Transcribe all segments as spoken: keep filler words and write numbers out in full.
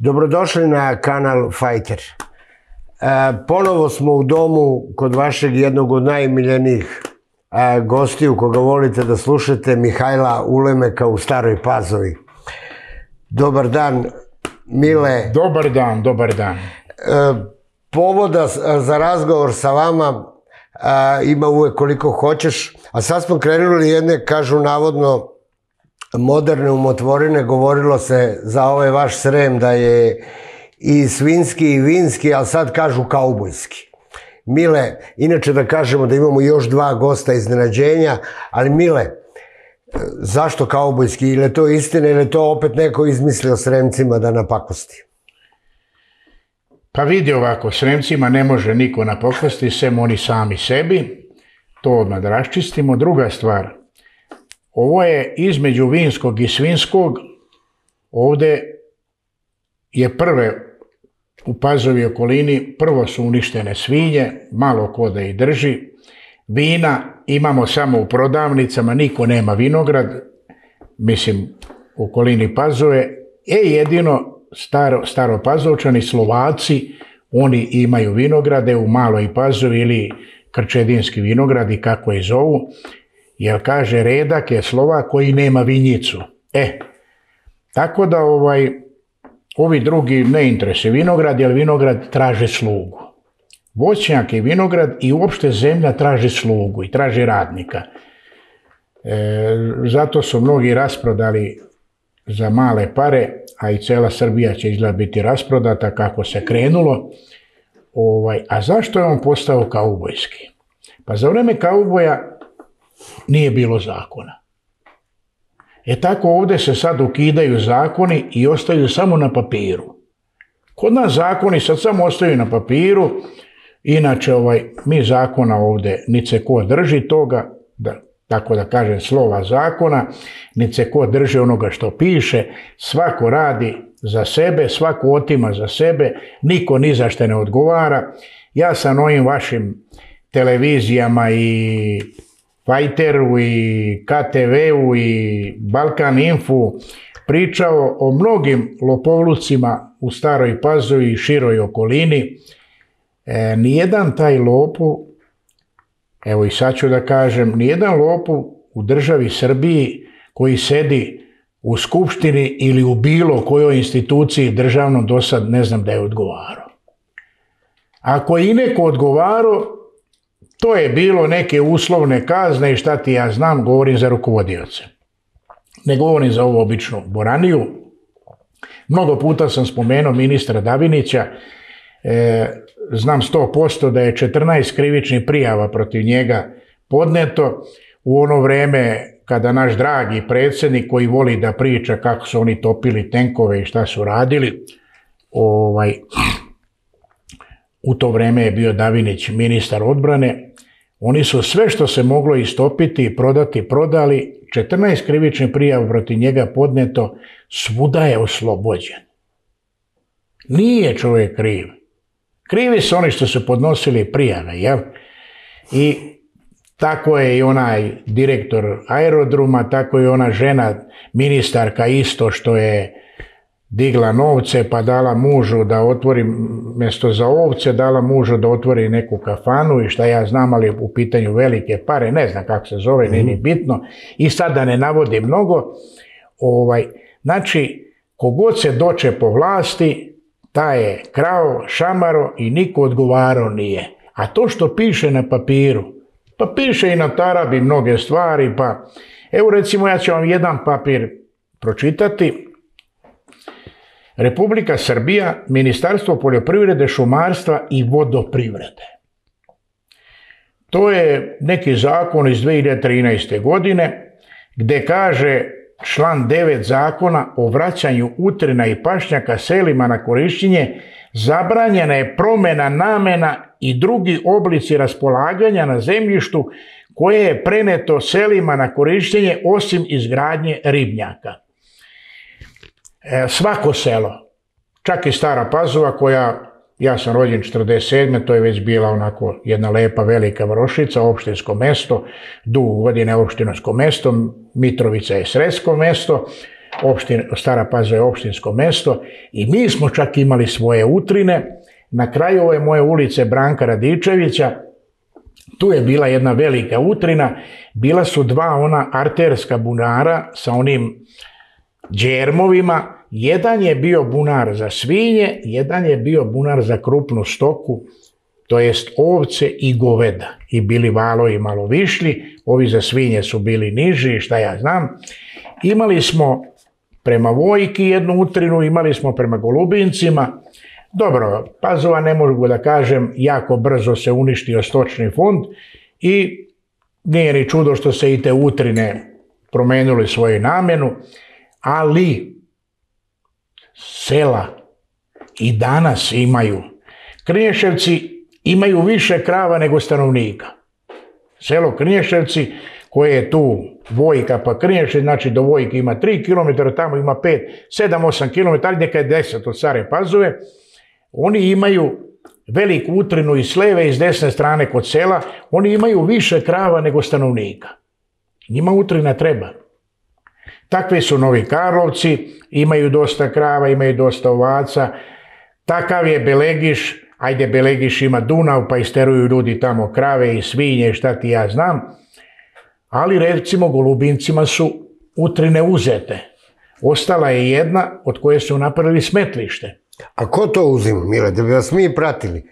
Dobrodošli na kanal Fajter. Ponovo smo u domu kod vašeg jednog od najmiljenijih gostiju koga volite da slušate, Mihajla Ulemeka u Staroj Pazovi. Dobar dan, Mile. Dobar dan, dobar dan. Povoda za razgovor sa vama ima uvek koliko hoćeš, a sad smo krenuli jedne, kažu navodno, moderne umotvorine. Govorilo se za ovaj vaš Srem da je i svinski i vinski, ali sad kažu kaubojski. Mile, inače da kažemo da imamo još dva gosta iznenađenja, ali Mile, zašto kaubojski? Ili je to istina ili je to opet neko izmislio Sremcima da napakosti? Pa vidi ovako, Sremcima ne može niko napakosti, sem oni sami sebi. To odmah da raščistimo. Druga stvar, ovo je između vinskog i svinskog. Ovde je prve u Pazovi okolini, prvo su uništene svinje, malo ko da ih drži. Vina imamo samo u prodavnicama, niko nema vinograd, mislim u okolini Pazove. E jedino staro, Staropazovčani, Slovaci, oni imaju vinograde u Maloj Pazovi ili Krčedinski vinogradi, kako je zovu. Jer kaže, redak je Slovak koji nema vinjicu. E, tako da ovaj, ovi drugi ne interesuje vinograd, jer vinograd traže slugu. Voćnjak i vinograd i uopšte zemlja traži slugu i traži radnika. E, zato su mnogi rasprodali za male pare, a i cela Srbija će izgleda biti rasprodata kako se krenulo. Ovaj, a zašto je on postao kaubojski? Pa za vreme kauboja nije bilo zakona. E tako ovde se sad ukidaju zakoni i ostaju samo na papiru. Kod nas zakoni sad samo ostaju na papiru, inače ovaj, mi zakona ovde, niti se ko drži toga, da, tako da kažem slova zakona, niti se ko drži onoga što piše, svako radi za sebe, svako otima za sebe, niko ni za što ne odgovara. Ja sam ovim vašim televizijama i Fajteru i K T V-u i Balkan Infu pričao o mnogim lopovlucima u Staroj Pazovi i široj okolini. E, nijedan taj lopov, evo i sad ću da kažem, nijedan lopov u državi Srbiji koji sedi u skupštini ili u bilo kojoj instituciji državnom do sad ne znam da je odgovarao. Ako je i neko odgovarao, to je bilo neke uslovne kazne i šta ti ja znam, govorim za rukovodioce. Ne govorim za ovu običnu boraniju. Mnogo puta sam spomenuo ministra Davinića, e, znam sto posto da je četrnaest krivičnih prijava protiv njega podneto u ono vreme kada naš dragi predsjednik koji voli da priča kako su oni topili tenkove i šta su radili, ovaj... U to vreme je bio Davinić ministar odbrane. Oni su sve što se moglo istopiti i prodati, prodali. četrnaest krivičnih prijava protiv njega podneto, svuda je oslobođen. Nije čovjek kriv. Krivi su oni što su podnosili prijave, jel? I tako je i onaj direktor aerodroma, tako je ona žena, ministarka isto što je digla novce pa dala mužu da otvori, mjesto za ovce, dala mužu da otvori neku kafanu i šta ja znam, ali u pitanju velike pare, ne znam kako se zove, mm-hmm. nije bitno. I sad da ne navodim mnogo, ovaj, znači, kogod se doče po vlasti, taj je krao, šamaro i niko odgovarao nije. A to što piše na papiru, pa piše i na tarabi mnoge stvari, pa evo recimo ja ću vam jedan papir pročitati. Republika Srbija, Ministarstvo poljoprivrede, šumarstva i vodoprivrede. To je neki zakon iz dve hiljade trinaeste. godine gde kaže član devet zakona o vraćanju utrina i pašnjaka selima na korišćenje, zabranjena je promjena namena i drugi oblici raspolaganja na zemljištu koje je preneto selima na korištenje osim izgradnje ribnjaka. Svako selo, čak i Stara Pazova koja, ja sam rođen četrdeset sedme. to je već bila onako jedna lepa velika varošica, opštinsko mesto, dugo godine opštinsko mesto, Mitrovica je sredsko mesto, opštin, Stara Pazova je opštinsko mesto i mi smo čak imali svoje utrine. Na kraju ove moje ulice Branka Radičevića, tu je bila jedna velika utrina, bila su dva ona arterska bunara sa onim džermovima, jedan je bio bunar za svinje, jedan je bio bunar za krupnu stoku, to jest ovce i goveda. I bili valovi malo višlji, ovi za svinje su bili niži, šta ja znam. Imali smo prema Vojki jednu utrinu, imali smo prema Golubincima. Dobro, Pazova, ne mogu da kažem, jako brzo se uništio stočni fond i nije ni čudo što se i te utrine promenili svoju namenu, ali sela i danas imaju. Krnješevci imaju više krava nego stanovnika. Selo Krnješevci, koje je tu Vojka pa Krnješev, znači do Vojke ima tri kilometra, tamo ima pet, sedam, osam kilometara, neka je deset od Stare Pazove. Oni imaju veliku utrinu i s leve i s desne strane kod sela, oni imaju više krava nego stanovnika. Njima utrina treba. Takvi su Novi Karlovci, imaju dosta krava, imaju dosta ovaca. Takav je Belegiš, ajde Belegiš ima Dunav pa isteruju ljudi tamo krave i svinje, šta ti ja znam. Ali recimo Golubincima su utrine uzete. Ostala je jedna od koje su napravili smetlište. A ko to uzima, Mile, da bi vas mi pratili?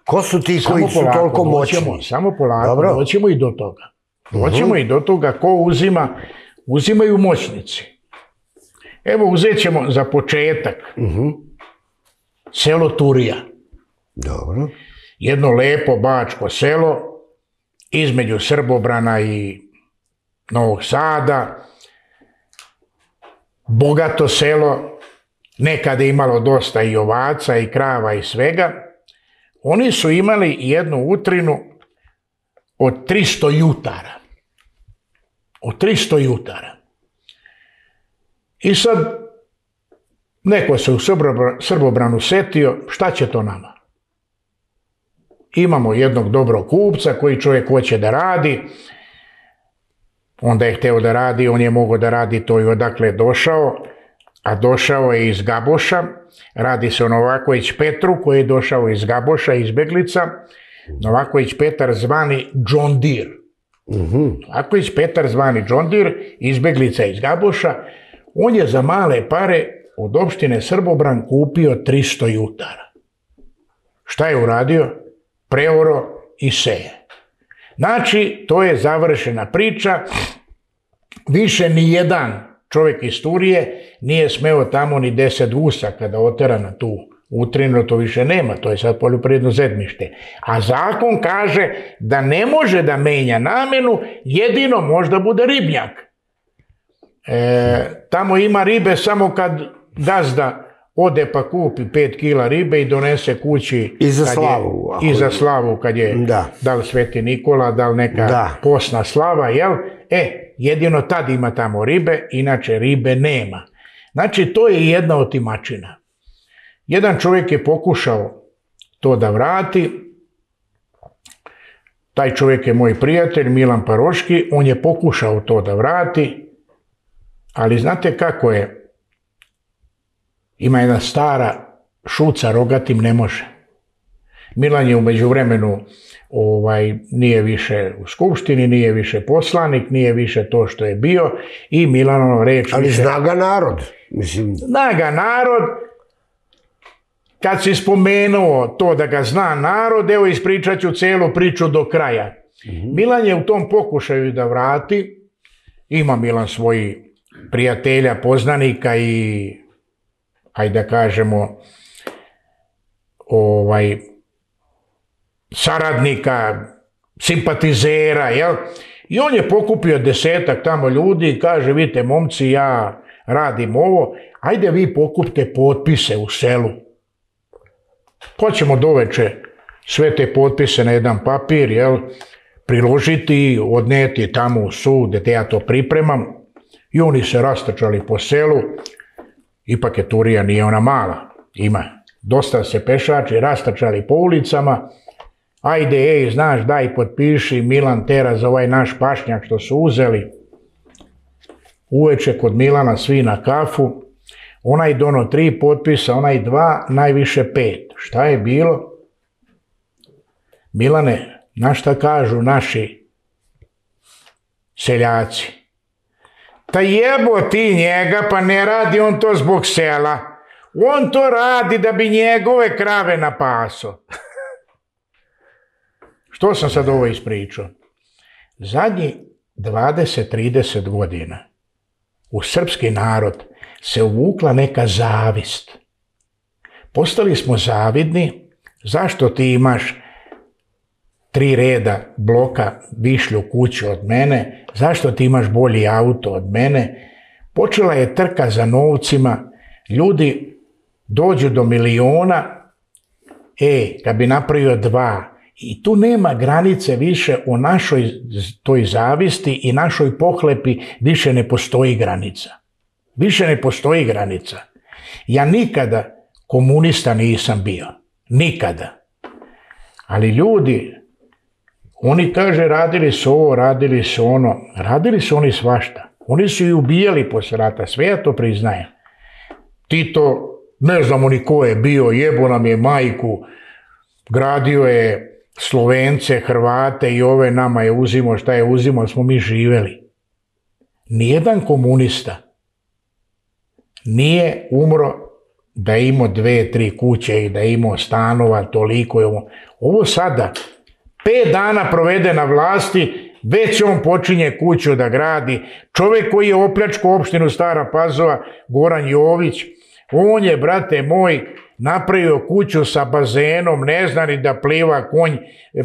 Ko su ti koji su toliko moćni? Samo polako, doćemo i do toga. Doćemo i do toga ko uzima. Uzimaju moćnici. Evo, uzet ćemo za početak selo Turija. Dobro. Jedno lepo bačko selo između Srbobrana i Novog Sada. Bogato selo, nekada je imalo dosta i ovaca i krava i svega. Oni su imali jednu utrinu od tristo jutara. Od tristo jutara. I sad neko se u Srbobranu setio, šta će to nama? Imamo jednog dobrog kupca koji čovjek hoće da radi, onda je hteo da radi, on je mogao da radi to i odakle je došao, a došao je iz Gaboša, radi se o Novaković Petru koji je došao iz Gaboša, izbeglica, Novaković Petar zvani John Deere. Novaković Petar zvani John Deere, izbeglica iz Gaboša, on je za male pare od opštine Srbobran kupio tristo jutara. Šta je uradio? Preoro i seje. Znači, to je završena priča. Više ni jedan čovjek iz Turije nije smeo tamo ni deset gusa kada otera na tu utrinu, to više nema, to je sad poljoprivredno zemljište. A zakon kaže da ne može da menja namenu, jedino možda bude ribnjak. E, tamo ima ribe samo kad gazda ode pa kupi pet kila ribe i donese kući. I za slavu. I za slavu kad je, da, da li Sveti Nikola, da li neka da. Posna slava, jel? E, jedino tad ima tamo ribe, inače ribe nema. Znači, to je jedna otimačina. Jedan čovjek je pokušao to da vrati. Taj čovjek je moj prijatelj, Milan Paroški, on je pokušao to da vrati, ali znate kako je? Ima jedna stara šuca, rogatim ne može. Milan je u međuvremenu ovaj, nije više u skupštini, nije više poslanik, nije više to što je bio i Milanov reč... Ali više... zna ga narod. Mislim... Zna ga narod. Kad si spomenuo to da ga zna narod, evo ispričat ću celu priču do kraja. Mm-hmm. Milan je u tom pokušaju da vrati, ima Milan svoji prijatelja, poznanika i, ajde da kažemo, ovaj, saradnika, simpatizera, jel? I on je pokupio desetak tamo ljudi i kaže, vidite momci, ja radim ovo, ajde vi pokupite potpise u selu. Pa ćemo doveče sve te potpise na jedan papir, jel, priložiti, odneti tamo u sud, gde ja to pripremam. I oni se rastrčali po selu. Ipak je Turija, nije ona mala. Ima dosta se pešači, rastrčali po ulicama. Ajde, ej, znaš, daj potpiši, Milan tera za ovaj naš pašnjak što su uzeli. uveče kod Milana svi na kafu, onaj dono tri potpisa, onaj dva, najviše pet. Šta je bilo? Milane, na šta kažu naši seljaci? Ta jebo ti njega, pa ne radi on to zbog sela. On to radi da bi njegove krave napaso. Što sam sad ovo ispričao? Zadnji dvadeset trideset godina u srpski narod se uvukla neka zavist. Postali smo zavidni. Zašto ti imaš tri reda bloka višlju kuću od mene? Zašto ti imaš bolji auto od mene? Počela je trka za novcima. Ljudi dođu do miliona. E, kad bi napravio dva. I tu nema granice više u našoj toj zavisti i našoj pohlepi. Više ne postoji granica. Više ne postoji granica. Ja nikada komunista nisam bio. Nikada. Ali ljudi, oni kaže radili su ovo, radili su ono. Radili su oni svašta. Oni su i ubijali posle rata. Sve ja to priznajem. Tito, ne znamo ni ko je bio, jebo nam je majku. Gradio je Slovence, Hrvate i ove, nama je uzimo šta je uzimo, smo mi živeli. Nijedan komunista nije umro da je imao dve, tri kuće i da je imao stanova, toliko je ovo. Ovo sada, pet dana provede na vlasti, već on počinje kuću da gradi. Čovjek koji je opljačkao opštinu Stara Pazova, Goran Jović, on je, brate moj, napravio kuću sa bazenom, ne zna ni da pliva konj.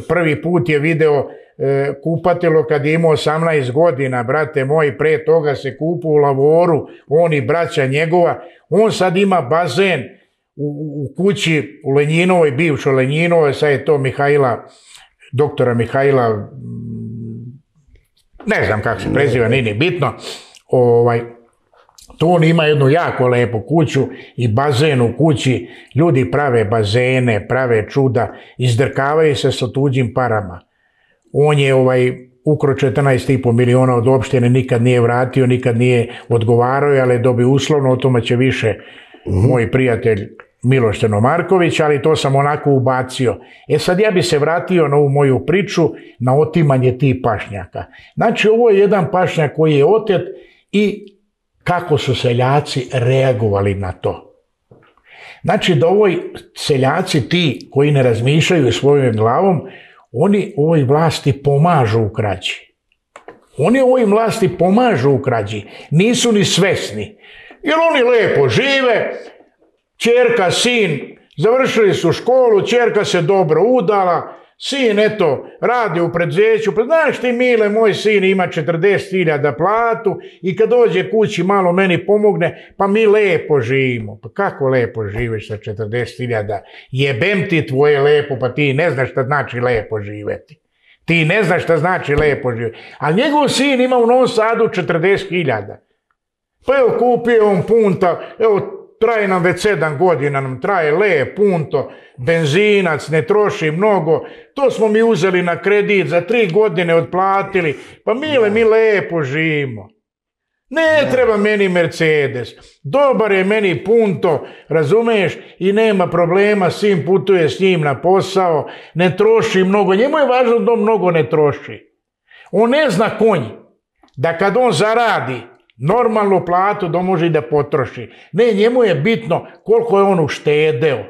Prvi put je video e, kupatilo kad je imao osamnaest godina, brate moj, pre toga se kupu u Lavoru, on i braća njegova. On sad ima bazen u, u kući u Lenjinovoj, bivšoj Lenjinovoj, sad je to Mihajla, doktora Mihajla, ne znam kako se preziva, nije ni bitno. Ovaj, to on ima jednu jako lepu kuću i bazen u kući. Ljudi prave bazene, prave čuda, izdrkavaju se sa tuđim parama. On je ovaj, ukro četrnaest i po miliona od opštine, nikad nije vratio, nikad nije odgovarao, ali je dobio uslovno, o tome će više mm-hmm. moj prijatelj Miloš Stenomarković, ali to sam onako ubacio. E sad ja bi se vratio na ovu moju priču, na otimanje tih pašnjaka. Znači ovo je jedan pašnjak koji je otet i kako su seljaci reagovali na to. Znači da ovoj seljaci ti koji ne razmišljaju svojom glavom, oni ovoj vlasti pomažu u krađi. Oni ovoj vlasti pomažu u krađi. Nisu ni svesni. Jer oni lepo žive, ćerka, sin, završili su školu, ćerka se dobro udala, sin, eto, radi u preduzeću, pa znaš ti, Mile, moj sin ima četrdeset hiljada platu i kad dođe kući malo meni pomogne, pa mi lepo živimo. Pa kako lepo živiš sa četrdeset hiljada? Jebem ti tvoje lepo, pa ti ne znaš šta znači lepo živeti. Ti ne znaš šta znači lepo živeti. Ali njegov sin ima u Novom Sadu četrdeset hiljada. Pa evo, kupio on punta, evo, traje nam već sedam godina, nam traje le, punto, benzinac, ne troši mnogo, to smo mi uzeli na kredit, za tri godine otplatili, pa Mile, mi lepo živimo. Ne treba meni Mercedes, dobar je meni punto, razumiješ, i nema problema, sin putuje s njim na posao, ne troši mnogo, njemu je važno da on mnogo ne troši. On ne zna konj, da kad on zaradi normalnu platu da može i da potroši. Ne, njemu je bitno koliko je on uštedeo.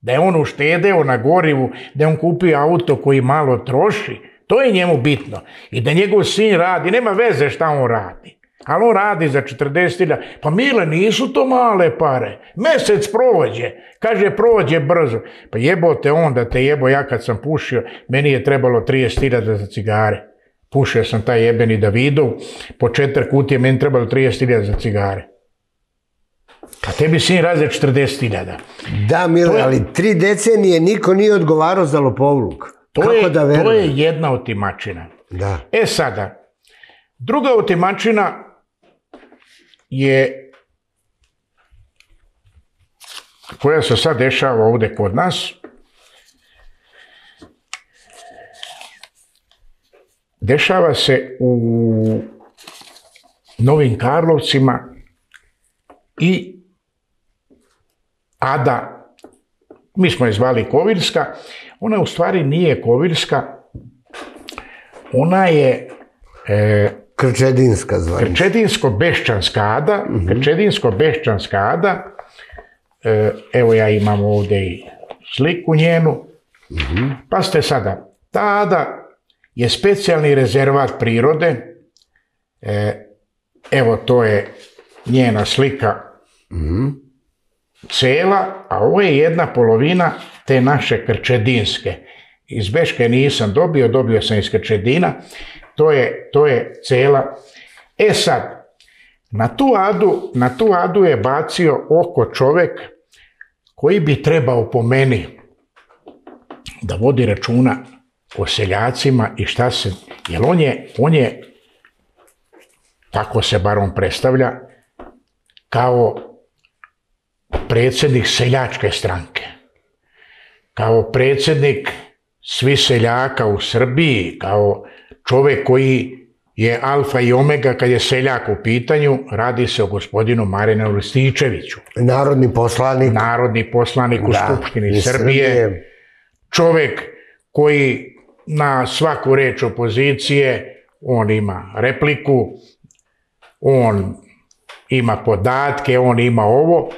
Da je on uštedeo na gorivu, da je on kupio auto koji malo troši. To je njemu bitno. I da njegov sin radi, nema veze šta on radi. Ali on radi za četrdeset hiljada. Pa Mile, nisu to male pare. Mesec prođe. Kaže, prođe brzo. Pa jebote on da te jebo, ja kad sam pušio, meni je trebalo trideset hiljada za cigare. Pušio sam taj jebeni Davidov, po četiri kutije, meni trebalo trideset hiljada za cigare. A tebi sin radi četrdeset hiljada. Da, Mile, ali tri decenije niko nije odgovarao za lopovluk. Kako da verujem? To je jedna otimačina. Da. E sada, druga otimačina je, koja se sad dešava ovde kod nas, dešava se u Novim Karlovcima i Ada, mi smo je zvali Kovirska, ona u stvari nije Kovirska, ona je e, Krčedinska zvanica. Krčedinsko-Beščanska Ada, mm-hmm. Krčedinsko-Beščanska Ada, e, evo ja imam ovdje i sliku njenu, mm-hmm. Pa ste sada, ta Ada je specijalni rezervat prirode, e, evo to je njena slika mm-hmm. cela, a ovo je jedna polovina te naše Krčedinske. Iz Beške nisam dobio, dobio sam iz Krčedina, to je, to je cela. E sad, na tu Adu, na tu Adu je bacio oko čovjek koji bi trebao po meni da vodi računa o seljacima i šta se, jer on je, on je, tako se bar on predstavlja, kao predsjednik seljačke stranke, kao predsjednik svih seljaka u Srbiji, kao čovjek koji je alfa i omega kad je seljak u pitanju, radi se o gospodinu Marijanu Rističeviću. Narodni poslanik. Narodni poslanik u da, Skupštini Srbije. Srbije. Čovjek koji na svaku reč opozicije, on ima repliku, on ima podatke, on ima ovo.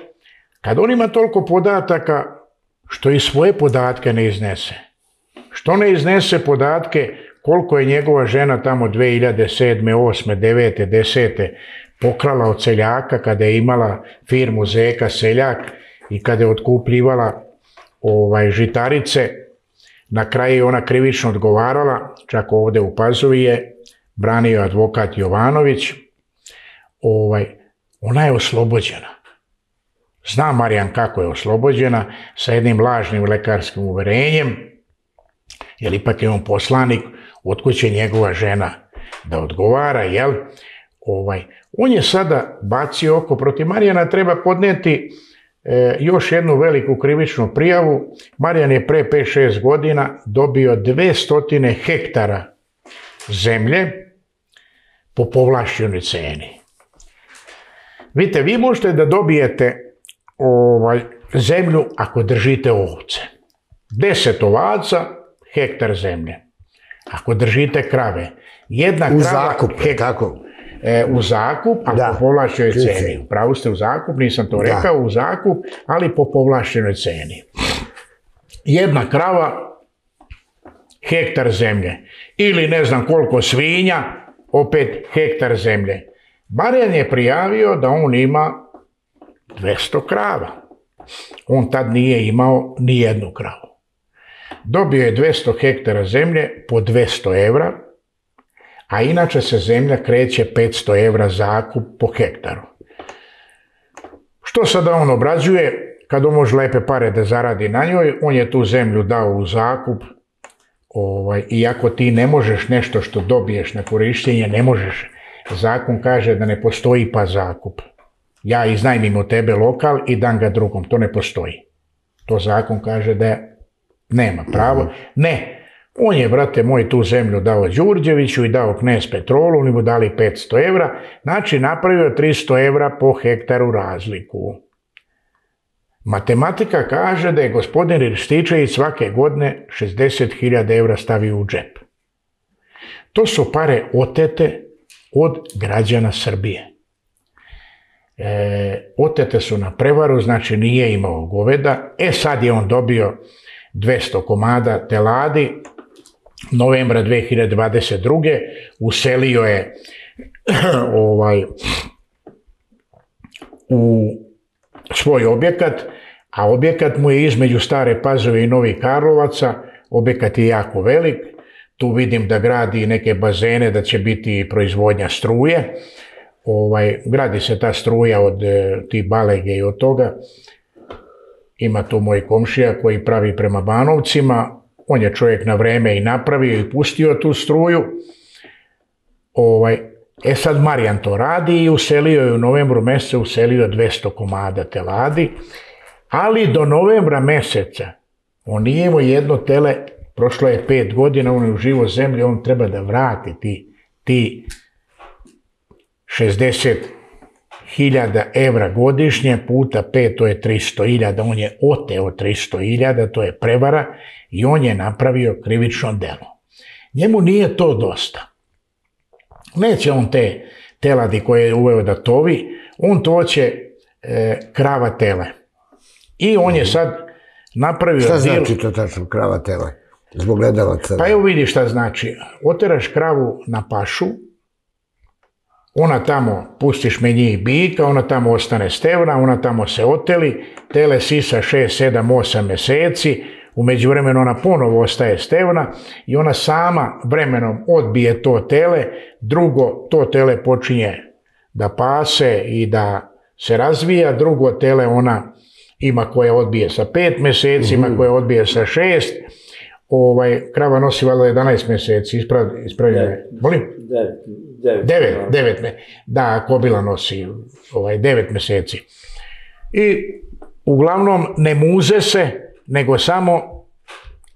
Kad on ima toliko podataka, što i svoje podatke ne iznese. Što ne iznese podatke koliko je njegova žena tamo dve hiljade sedme, osme, devete, desete pokrala od seljaka kada je imala firmu Zeka Seljak i kada je otkupljivala ovaj, žitarice. Na kraju je ona krivično odgovarala, čak ovdje u Pazovi je branio advokat Jovanović. Ovaj, ona je oslobođena. Zna Marijan kako je oslobođena, sa jednim lažnim lekarskim uverenjem, jer ipak je on poslanik, otkud će njegova žena da odgovara, jel? Ovaj, on je sada bacio oko, protiv Marijana treba podnijeti e, još jednu veliku krivičnu prijavu. Marijan je pre pet šest godina dobio dvesta hektara zemlje po povlašćenoj ceni. Vidite, vi možete da dobijete ovaj, zemlju ako držite ovce. Deset ovaca, hektar zemlje. Ako držite krave, jedna u krava... Zakup, hek, tako? E, u zakup, a da, po povlašćenoj ceni. Upravo ste u zakup, nisam to rekao, da. U zakup, ali po povlašćenoj ceni. Jedna krava, hektar zemlje. Ili ne znam koliko svinja, opet hektar zemlje. Marijan je prijavio da on ima dvesta krava. On tad nije imao ni jednu kravu. Dobio je dvesta hektara zemlje po dvesta evra, a inače se zemlja kreće petsto evra zakup po hektaru. Što sada on obrađuje? Kad on može lepe pare da zaradi na njoj, on je tu zemlju dao u zakup, ovaj, iako ti ne možeš nešto što dobiješ na korištenje, ne možeš. Zakon kaže da ne postoji pa zakup. Ja iznajmim od tebe lokal i dam ga drugom, to ne postoji. To zakon kaže da nema pravo. Ne, on je, brate moj, tu zemlju dao Đurđeviću i dao Knez Petrolu, oni mu dali petsto evra, znači napravio tristo evra po hektaru razliku. Matematika kaže da je gospodin Rističević svake godine šezdeset hiljada evra stavio u džep. To su pare otete od građana Srbije. E, otete su na prevaru, znači nije imao goveda. E sad je on dobio dvesta komada teladi, novembra dve hiljade dvadeset druge uselio je ovaj, u svoj objekat, a objekat mu je između Stare Pazove i Novih Karlovaca, objekat je jako velik, tu vidim da gradi neke bazene, da će biti proizvodnja struje. Ovaj, gradi se ta struja od e, tih balege i od toga. Ima tu moj komšija koji pravi prema Banovcima. On je čovjek na vreme i napravio i pustio tu struju. Ovaj, e sad Marijan to radi i uselio je u novembru mjesecu, uselio dvesta komada teladi. Ali do novembra mjeseca on nije imao jedno tele, prošlo je pet godina, on je u živo zemlji, on treba da vrati ti, ti šezdeset hiljada evra godišnje puta pet, to je tristo hiljada, on je oteo tristo hiljada, to je prevara i on je napravio krivično delo. Njemu nije to dosta. Neće on te teladi koje je uveo da tovi, on to će e, krava tele. I on je sad napravio... Šta znači to tačno krava tele? Zbog gledalaca. Pa evo vidi šta znači. Oteraš kravu na pašu, ona tamo, pustiš me njih bika, ona tamo ostane stevna, ona tamo se oteli, tele sisa šest, sedam, osam meseci, u međuvremenu ona ponovo ostaje stevna i ona sama vremenom odbije to tele, drugo to tele počinje da pase i da se razvija, drugo tele ona ima koje odbije sa pet meseci, ima koje odbije sa šest, ovaj, krava nosi valjda jedanaest meseci, ispravljaju. Molim? Devet. Devet, devet, me, da, kobila nosi ovaj, devet meseci. I uglavnom ne muze se, nego samo...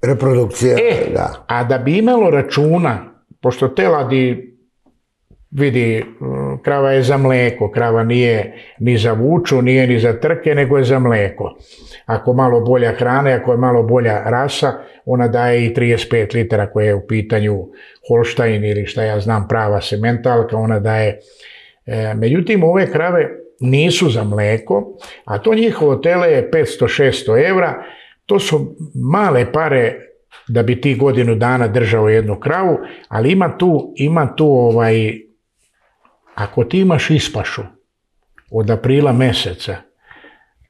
Reprodukcija, e, da. A da bi imalo računa, pošto teladi, vidi, krava je za mleko, krava nije ni za vuču, nije ni za trke, nego je za mleko. Ako malo bolja hrana, ako je malo bolja rasa, ona daje i trideset pet litara koje je u pitanju Holštajn ili šta ja znam prava sementalka, ona daje. E, međutim, ove krave nisu za mleko, a to njihovo tele je petsto do šesto evra, to su male pare da bi ti godinu dana držao jednu kravu, ali ima tu, ima tu ovaj, ako ti imaš ispašu od aprila meseca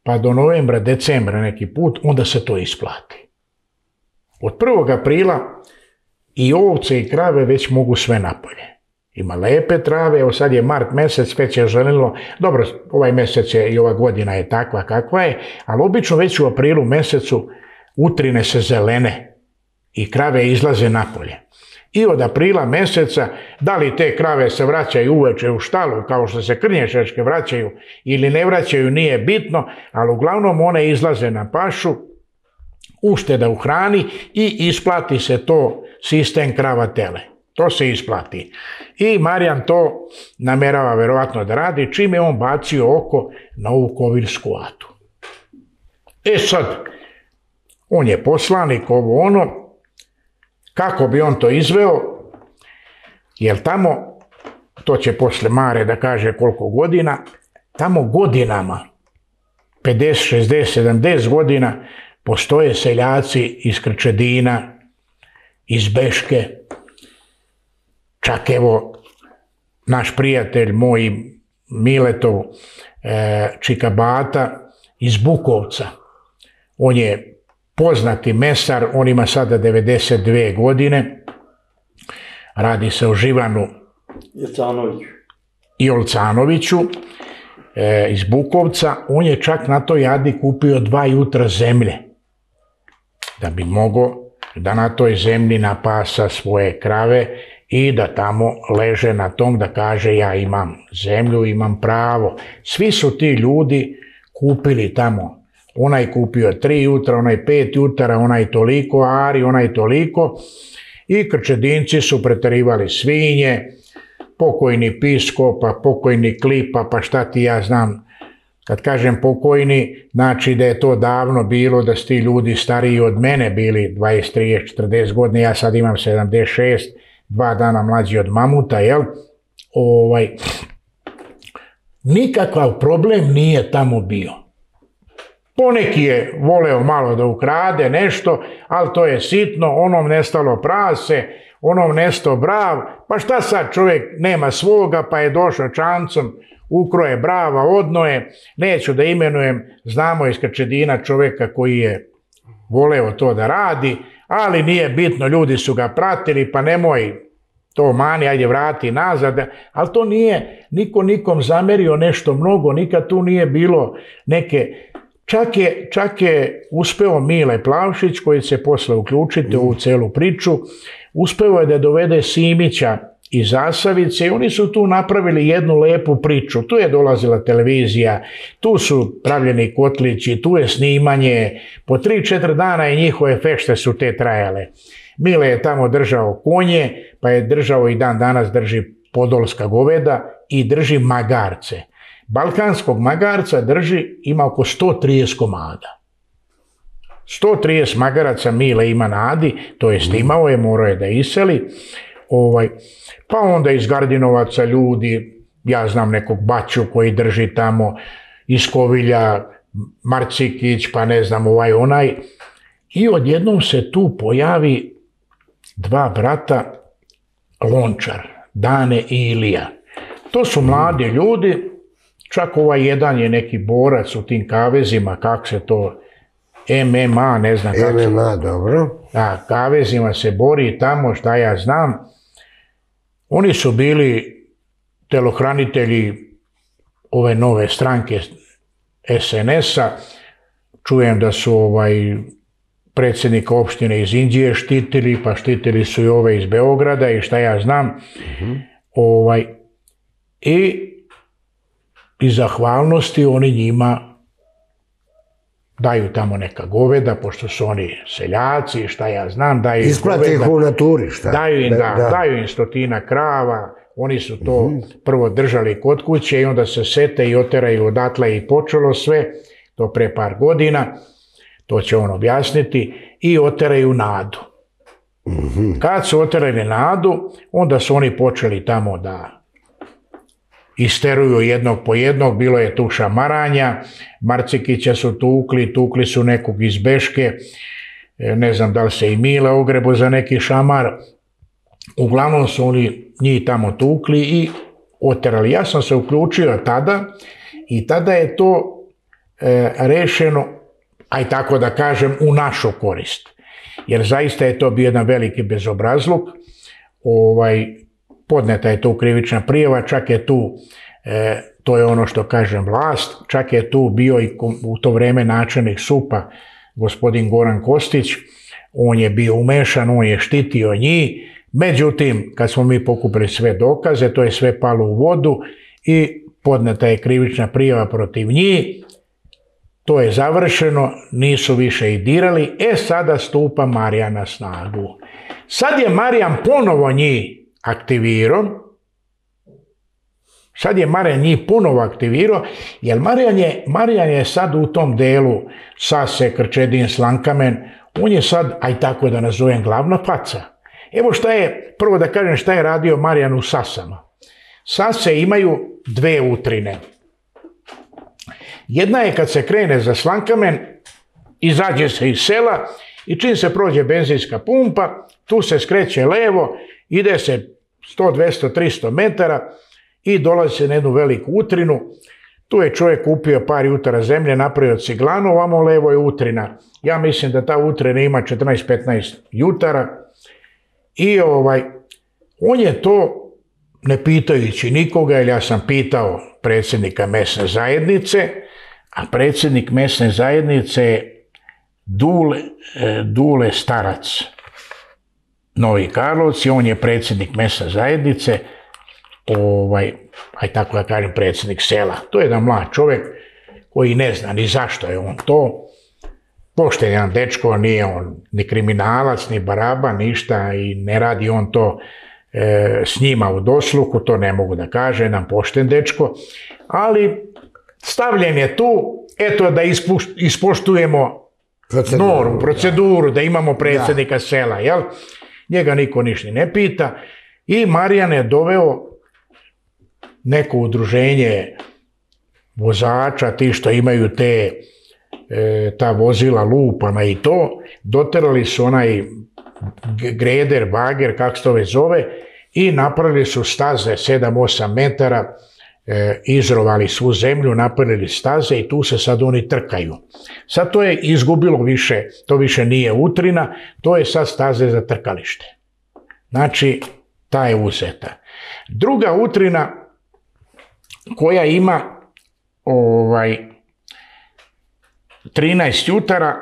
pa do novembra, decembra neki put, onda se to isplati. Od prvog aprila i ovce i krave već mogu sve napolje. Ima lepe trave, evo sad je mart mesec, već je zelenilo, dobro, ovaj mesec je i ova godina je takva kakva je, ali obično već u aprilu mesecu utrine se zelene i krave izlaze napolje. I od aprila meseca, da li te krave se vraćaju uveče u štalu, kao što se krnješačke vraćaju ili ne vraćaju, nije bitno, ali uglavnom one izlaze na pašu, ušteda u hrani i isplati se to sistem krava tele. To se isplati. I Marijan to namerava verovatno da radi, čim je on bacio oko na ovu kovirsku atu. E sad, on je poslanik, ovo ono, kako bi on to izveo, jer tamo, to će posle Mare da kaže koliko godina, tamo godinama, pedeset, šezdeset, sedamdeset godina, postoje seljaci iz Krčedina, iz Beške, čak evo naš prijatelj moj Miletov e, Čikabata iz Bukovca, on je poznati mesar, on ima sada devedeset dve godine, radi se o Živanu i Olcanoviću e, iz Bukovca, on je čak na toj jadi kupio dva jutra zemlje, da bi mogao da na toj zemlji napasa svoje krave i da tamo leže na tom da kaže ja imam zemlju, imam pravo. Svi su ti ljudi kupili tamo. Onaj kupio tri jutra, onaj pet jutara, onaj toliko ari, onaj toliko. I Krčedinci su preterivali svinje, pokojni Pisko, pa pokojni Klipa, pa šta ti ja znam. Kad kažem pokojni, znači da je to davno bilo, da su ti ljudi stariji od mene bili dvadeset, trideset, četrdeset godine, ja sad imam sedamdeset šest, dva dana mlađi od mamuta, jel? Ovaj, nikakav problem nije tamo bio. Poneki je voleo malo da ukrade nešto, ali to je sitno, onom nestalo prase, onom nesto brav, pa šta sad čovjek nema svoga, pa je došao čancom, ukroje brava, odnoje, neću da imenujem, znamo iz Krčedina čovjeka koji je voleo to da radi, ali nije bitno, ljudi su ga pratili, pa nemoj to mani, ajde vrati nazad, ali to nije niko nikom zamerio nešto mnogo, nikad tu nije bilo neke, čak je, čak je uspeo Mile Plavšić, koji se posle uključiti u ovu celu priču, uspeo je da dovede Simića iz Zasavice i oni su tu napravili jednu lepu priču. Tu je dolazila televizija, tu su pravljeni kotlići, tu je snimanje, po tri četiri dana i njihove fešte su te trajale. Mile je tamo držao konje, pa je držao i dan danas drži podolska goveda i drži magarce. Balkanskog magarca drži, ima oko sto trideset komada. sto trideset magaraca Mile ima na Adi, to jest imao je, morao je da iseli. Ovaj, pa onda iz Gardinovaca ljudi, ja znam nekog Baću koji drži tamo, iz Kovilja, Marcikić, pa ne znam ovaj onaj. I odjednom se tu pojavi dva brata Lončar, Dane i Ilija. To su mladi ljudi, čak ovaj jedan je neki borac u tim kavezima, kako se to, M M A, ne znam kako se... M M A, dobro. Da, kavezima se bori tamo, šta ja znam. Oni su bili telohranitelji ove nove stranke S N S-a. Čujem da su ovaj predsjednika opštine iz Indije štitili, pa štitili su i ove iz Beograda i šta ja znam. Mm-hmm. Ovaj, i iz zahvalnosti oni njima daju tamo neka goveda, pošto su oni seljaci, šta ja znam, daju isplati ih u naturi, šta? Daju im, da, da. Daju im stotina krava, oni su to mm-hmm. prvo držali kod kuće i onda se sete i oteraju odatle i počelo sve, to pre par godina, to će on objasniti, i oteraju Nadu. Mm-hmm. Kad su oterali Nadu, onda su oni počeli tamo da isteruju jednog po jednog, bilo je tu šamaranja, Marcikića su tukli, tukli su nekog iz Beške, ne znam da li se i Mile ogrebo za neki šamar, uglavnom su oni njih tamo tukli i oterali. Ja sam se uključio tada i tada je to e, rešeno, aj tako da kažem, u našu korist. Jer zaista je to bio jedan veliki bezobrazluk, ovaj, podneta je tu krivična prijava, čak je tu, e, to je ono što kažem, vlast, čak je tu bio i u to vreme načelnik S U P-a, gospodin Goran Kostić, on je bio umešan, on je štitio njih, međutim, kad smo mi pokupili sve dokaze, to je sve palo u vodu i podneta je krivična prijava protiv njih, to je završeno, nisu više i dirali, e sada stupa Marijan na snagu. Sad je Marijan ponovo njih aktivirao, sad je Marijan njih ponovo aktivirao, jer Marijan je, Marijan je sad u tom delu Sase, Krčedin, Slankamen, on je sad, aj tako da nazovem, glavna faca. Evo šta je, prvo da kažem šta je radio Marijan u Sasama. Sase imaju dve utrine. Jedna je kad se krene za Slankamen, izađe se iz sela i čim se prođe benzinska pumpa, tu se skreće levo, ide se sto, dvesta, tristo metara i dolazi se na jednu veliku utrinu. Tu je čovjek kupio par jutara zemlje, napravio ciglanu, ovamo levo je utrina. Ja mislim da ta utrina ima četrnaest petnaest jutara i ovaj, on je to, ne pitajući nikoga, jer ja sam pitao predsjednika mesne zajednice, a predsjednik mesne zajednice je Dule, Dule Starac, Novi Karlovci, on je predsjednik mesne zajednice, ovaj, aj tako da kažem, predsjednik sela. To je jedan mlad čovjek koji ne zna ni zašto je on to. Pošten jedan dečko, nije on ni kriminalac, ni baraba, ništa i ne radi on to e, s njima u dosluhu, to ne mogu da kaže, jedan pošten dečko, ali stavljen je tu, eto da ispuš, ispoštujemo proceduru, normu, proceduru, da, da imamo predsjednika da. Sela, jel? Njega niko ništa ne pita i Marijan je doveo neko udruženje vozača, ti što imaju te e, ta vozila lupana i to, doterali su onaj greder, bager, kako se to već zove, i napravili su staze sedam osam metara, e, izrovali svu zemlju, napravili staze i tu se sad oni trkaju. Sad to je izgubilo više, to više nije utrina, to je sad staze za trkalište. Znači, ta je uzeta. Druga utrina koja ima ovaj, trinaest jutara,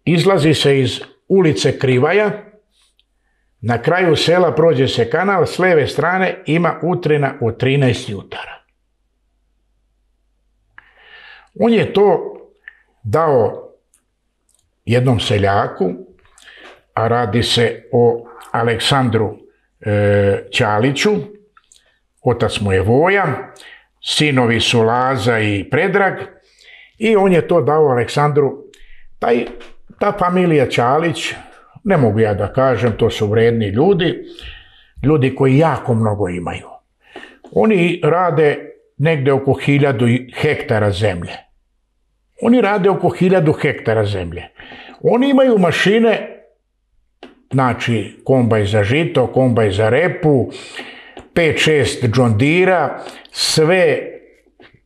izlazi se iz ulice Krivaja, na kraju sela prođe se kanal, s leve strane ima utrina od trinaest jutara. On je to dao jednom seljaku, a radi se o Aleksandru e, Ćaliću, otac mu je Voja, sinovi su Laza i Predrag i on je to dao Aleksandru. Taj, ta familija Čalić, ne mogu ja da kažem, to su vredni ljudi, ljudi koji jako mnogo imaju. Oni rade negde oko hiljadu hektara zemlje. Oni rade oko hiljadu hektara zemlje. Oni imaju mašine, znači kombaj za žito, kombaj za repu, pet šest John Deere-a, sve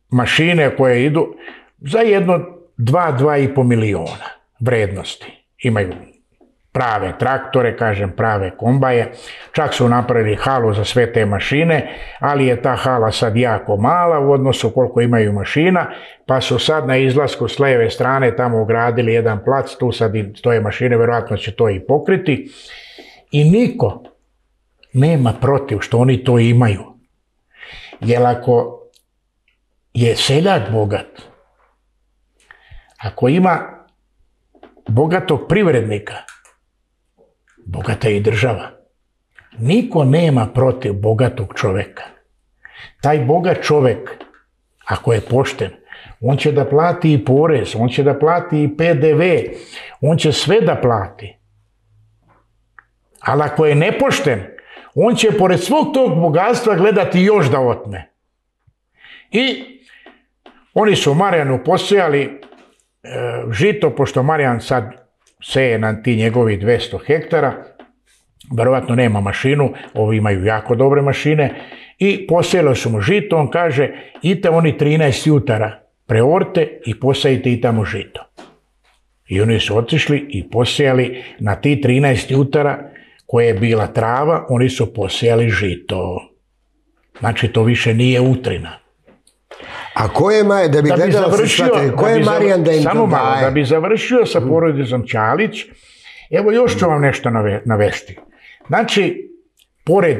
mašine koje idu za jedno dva do dva i po miliona vrednosti. Imaju prave traktore, kažem prave kombaje, čak su napravili halu za sve te mašine, ali je ta hala sad jako mala u odnosu koliko imaju mašina, pa su sad na izlasku s leve strane tamo ugradili jedan plac, tu sad stoje mašine, vjerojatno će to i pokriti. I niko nema protiv što oni to imaju. Jer ako je seljak bogat, ako ima bogatog privrednika, bogata je i država. Niko nema protiv bogatog čoveka. Taj bogat čovek, ako je pošten, on će da plati i porez, on će da plati i P D V, on će sve da plati. Ali ako je nepošten, on će pored svog tog bogatstva gledati još da otme. I oni su Marijanu posejali e, žito, pošto Marijan sad seje na ti njegovi dvesta hektara, verovatno nema mašinu, ovi imaju jako dobre mašine, i posejali su mu žito, on kaže, idite oni trinaest jutara, preorte i posejite i tamo žito. I oni su otišli i posejali na ti trinaest jutara, koje je bila trava, oni su posejali žito. Znači, to više nije utrina. A ko je, da bi gledala se shvatili, ko je Marijan da im to daje? Samo malo, da bi završio sa porodicom Čalić, evo još ću vam nešto navesti. Znači, pored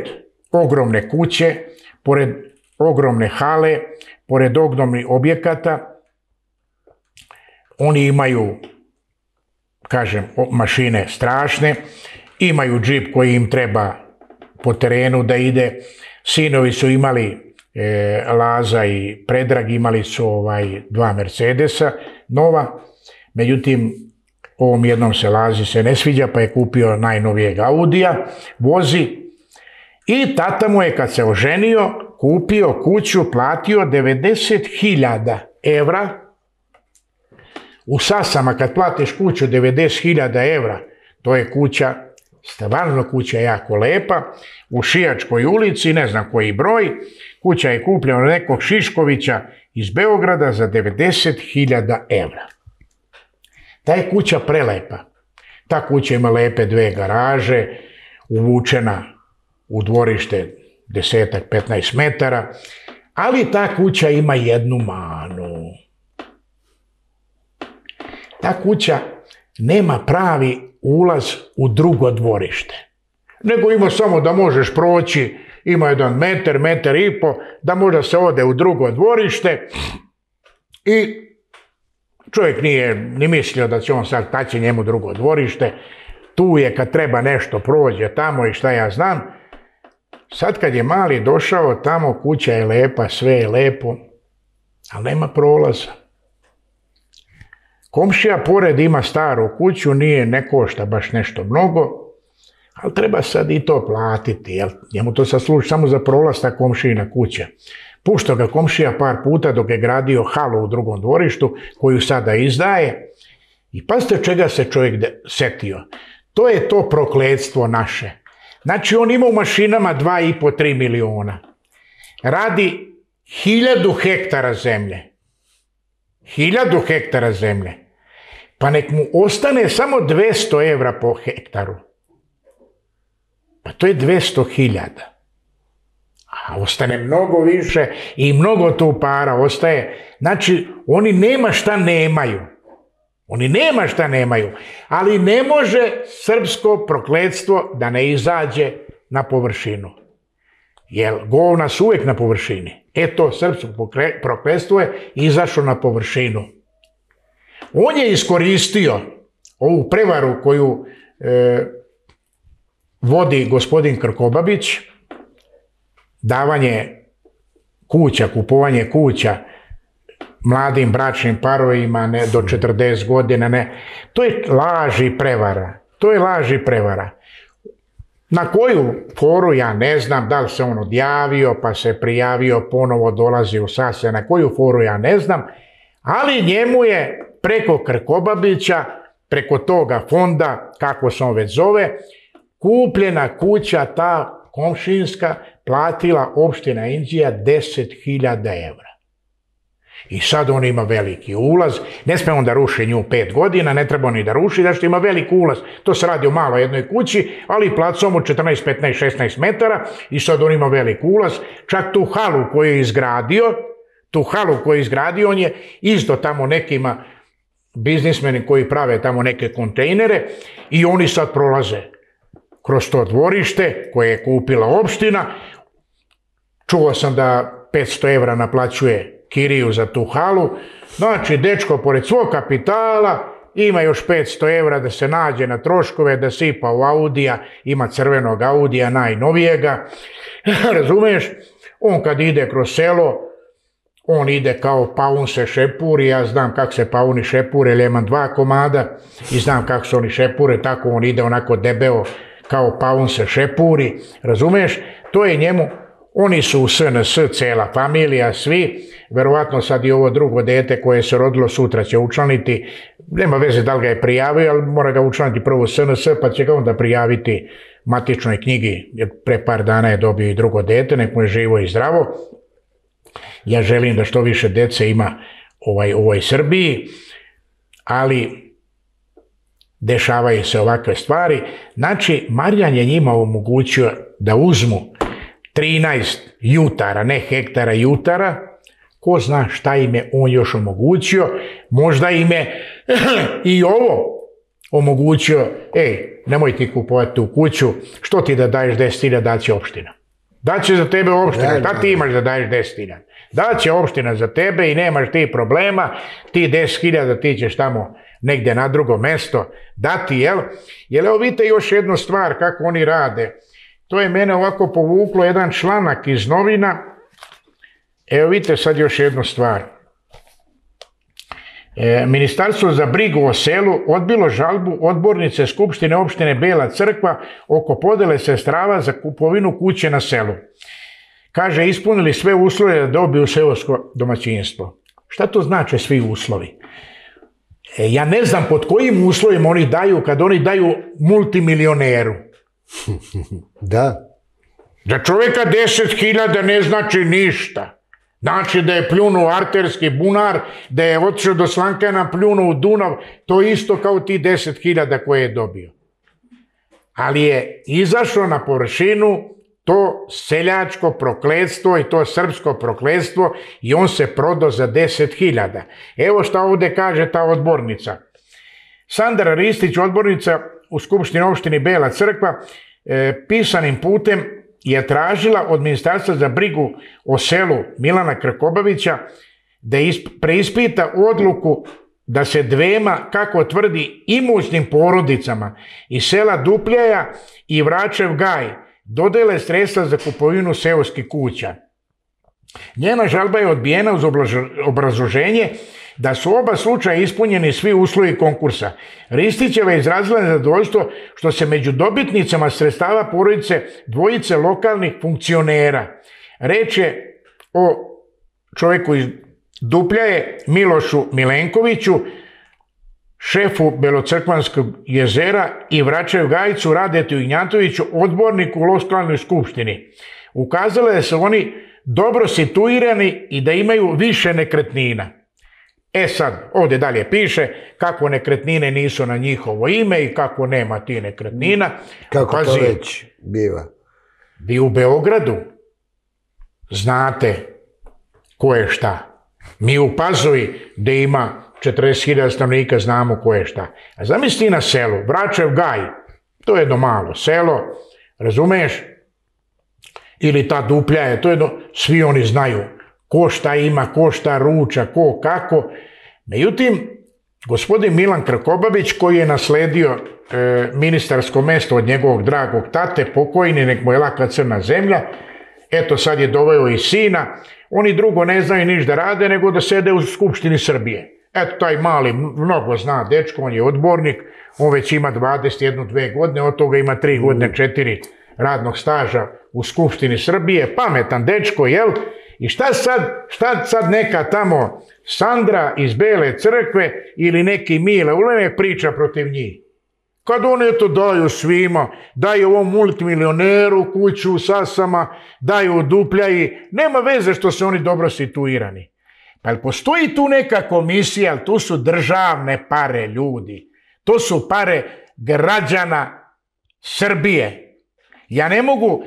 ogromne kuće, pored ogromne hale, pored ogromnih objekata, oni imaju, kažem, mašine strašne, imaju džip koji im treba po terenu da ide, sinovi su imali, e, Laza i Predrag imali su ovaj, dva Mercedesa nova, međutim, ovom jednom se Lazi se ne sviđa, pa je kupio najnovijeg Audija, vozi, i tata mu je kad se oženio, kupio kuću, platio devedeset hiljada evra. U Sasama kad platiš kuću devedeset hiljada evra, to je kuća, stvarno kuća je jako lepa, u Šijačkoj ulici, ne znam koji broj, kuća je kupljena od nekog Šiškovića iz Beograda za devedeset hiljada evra. Ta je kuća prelepa. Ta kuća ima lepe dve garaže, uvučena u dvorište desetak, petnaest metara, ali ta kuća ima jednu manu. Ta kuća nema pravi ulaz u drugo dvorište, nego ima samo da možeš proći, ima jedan metar, metar i po, da možda se ode u drugo dvorište i čovjek nije ni mislio da će on sad taći njemu drugo dvorište, tu je kad treba nešto prođe tamo i šta ja znam. Sad kad je mali došao tamo, kuća je lepa, sve je lepo, ali nema prolaza. Komšija pored ima staru kuću, nije, ne košta baš nešto mnogo, ali treba sad i to platiti, jel? Njemu to sad služi samo za prolaz ta komšijina kuća. Puštao ga komšija par puta dok je gradio halu u drugom dvorištu, koju sada izdaje. I pazite čega se čovjek setio. To je to prokletstvo naše. Znači on ima u mašinama dva i po, tri miliona. Radi hiljadu hektara zemlje. Hiljadu hektara zemlje. Pa nek mu ostane samo dvesta evra po hektaru. Pa to je dvesta hiljada. A ostane mnogo više i mnogo tu para ostaje. Znači, oni nema šta nemaju. Oni nema šta nemaju. Ali ne može srpsko prokletstvo da ne izađe na površinu. Jer govna su uvijek na površini. Eto, srpsko prokletstvo je izašlo na površinu. On je iskoristio ovu prevaru koju e, vodi gospodin Krkobabić, davanje kuća, kupovanje kuća mladim bračnim parovima ne, do četrdeset godina, ne. To je laž i prevara. To je laž i prevara. Na koju foru ja ne znam, da li se on odjavio, pa se prijavio, ponovo dolazi u sase, na koju foru ja ne znam, ali njemu je preko Krkobabića, preko toga fonda, kako se on već zove, kupljena kuća ta komšinska, platila opština Inđija deset hiljada evra. I sad on ima veliki ulaz, ne sme on da ruši nju pet godina, ne treba on i da ruši, da što ima veliki ulaz. To se radi o malo jednoj kući, ali placom od četrnaest, petnaest, šesnaest metara i sad on ima veliki ulaz. Čak tu halu koju je izgradio, tu halu koju je izgradio, on je isto tamo nekima biznismeni koji prave tamo neke kontejnere i oni sad prolaze kroz to dvorište koje je kupila opština. Čuo sam da petsto evra naplaćuje kiriju za tu halu. Znači, dečko pored svog kapitala ima još petsto evra da se nađe na troškove, da sipa u Audija, ima crvenog Audija, najnovijega. Razumeš? On kad ide kroz selo, on ide kao paun se šepuri, ja znam kako se pauni šepure, jer imam dva komada i znam kako se oni šepure, tako on ide onako debeo kao paun se šepuri, razumeš? To je njemu, oni su u S N S, cela familija, svi, verovatno sad i ovo drugo dete koje se rodilo sutra će učlaniti, nema veze da li ga je prijavio, ali mora ga učlaniti prvo u S N S, pa će ga onda prijaviti matičnoj knjigi, jer pre par dana je dobio i drugo dete, nek mu je živo i zdravo. Ja želim da što više dece ima ovaj, u ovoj Srbiji, ali dešavaju se ovakve stvari. Znači, Marijan je njima omogućio da uzmu trinaest jutara, ne hektara, jutara. Ko zna šta im je on još omogućio. Možda im je i ovo omogućio. Ej, nemoj ti kupovati tu kuću, što ti da daješ deset hiljada, daće opština. Daće za tebe opština, šta ti imaš da daješ deset hiljada? Daće opština za tebe i nemaš ti problema, ti deset hiljada ti ćeš tamo negdje na drugo mesto dati, jel? Jer evo vidite još jednu stvar kako oni rade. To je mene ovako povuklo jedan članak iz novina. Evo vidite sad još jednu stvar. E, Ministarstvo za brigu o selu odbilo žalbu odbornice Skupštine opštine Bela Crkva oko podele sredstava za kupovinu kuće na selu. Kaže, ispunili sve uslove da dobiju seosko domaćinstvo. Šta to znači svi uslovi? E, ja ne znam pod kojim uslovima oni daju kad oni daju multimilioneru. Da. Za čovjeka deset hiljada ne znači ništa. Znači da je pljunuo arterski bunar, da je otišao do Slankana, pljunuo u Dunav, to isto kao ti deset hiljada koje je dobio. Ali je izašlo na površinu to seljačko prokletstvo i to srpsko prokletstvo i on se prodao za deset hiljada. Evo šta ovdje kaže ta odbornica. Sandra Ristić, odbornica u Skupštini opštini Bela Crkva, e, pisanim putem je tražila od Ministarstva za brigu o selu Milana Krkobabića da preispita odluku da se dvema, kako tvrdi, imućnim porodicama iz sela Dupljaja i Vračev Gaj dodele sredstva za kupovinu seoskih kuća. Njena žalba je odbijena uz obrazloženje da su oba slučaja ispunjeni svi uslovi konkursa. Ristićeva je izrazila nezadovoljstvo što se među dobitnicama sredstava porodice dvojice lokalnih funkcionera. Reč je o čovjeku iz Dupljaje, Milošu Milenkoviću, šefu Belocrkvanskog jezera i Vračev Gajcu Radetu Ignjatoviću, odborniku u lokalnoj skupštini. Ukazalo je da su oni dobro situirani i da imaju više nekretnina. E sad, ovdje dalje piše kako nekretnine nisu na njihovo ime i kako nema ti nekretnina. Kako Pazi, to već biva? Vi u Beogradu znate ko je šta. Mi u Pazovi gdje ima četrdeset hiljada stanovnika znamo ko je šta. A zamisli na selu, Vračev Gaj, to je jedno malo selo, razumeš? Ili ta Dupljaja, to je jedno, svi oni znaju ko šta ima, ko šta ruča, ko kako. Međutim, gospodin Milan Krkobabić, koji je nasledio e, ministarsko mesto od njegovog dragog tate, pokojni, nek mu je laka crna zemlja, eto sad je doveo i sina, oni drugo ne znaju niš da rade nego da sede u Skupštini Srbije. Eto, taj mali mnogo zna dečko, on je odbornik, on već ima dvadeset jednu dve godine, od toga ima tri godine, četiri radnog staža u Skupštini Srbije, pametan dečko, jel? I šta sad, šta sad neka tamo Sandra iz Bele crkve ili neki Mile Ulemek priča protiv njih? Kad oni to daju svima, daju ovom multimilioneru kuću u Sasama, daju Dupljaji, nema veze što su oni dobro situirani. Pa jel postoji tu neka komisija, ali tu su državne pare, ljudi. To su pare građana Srbije. Ja ne mogu,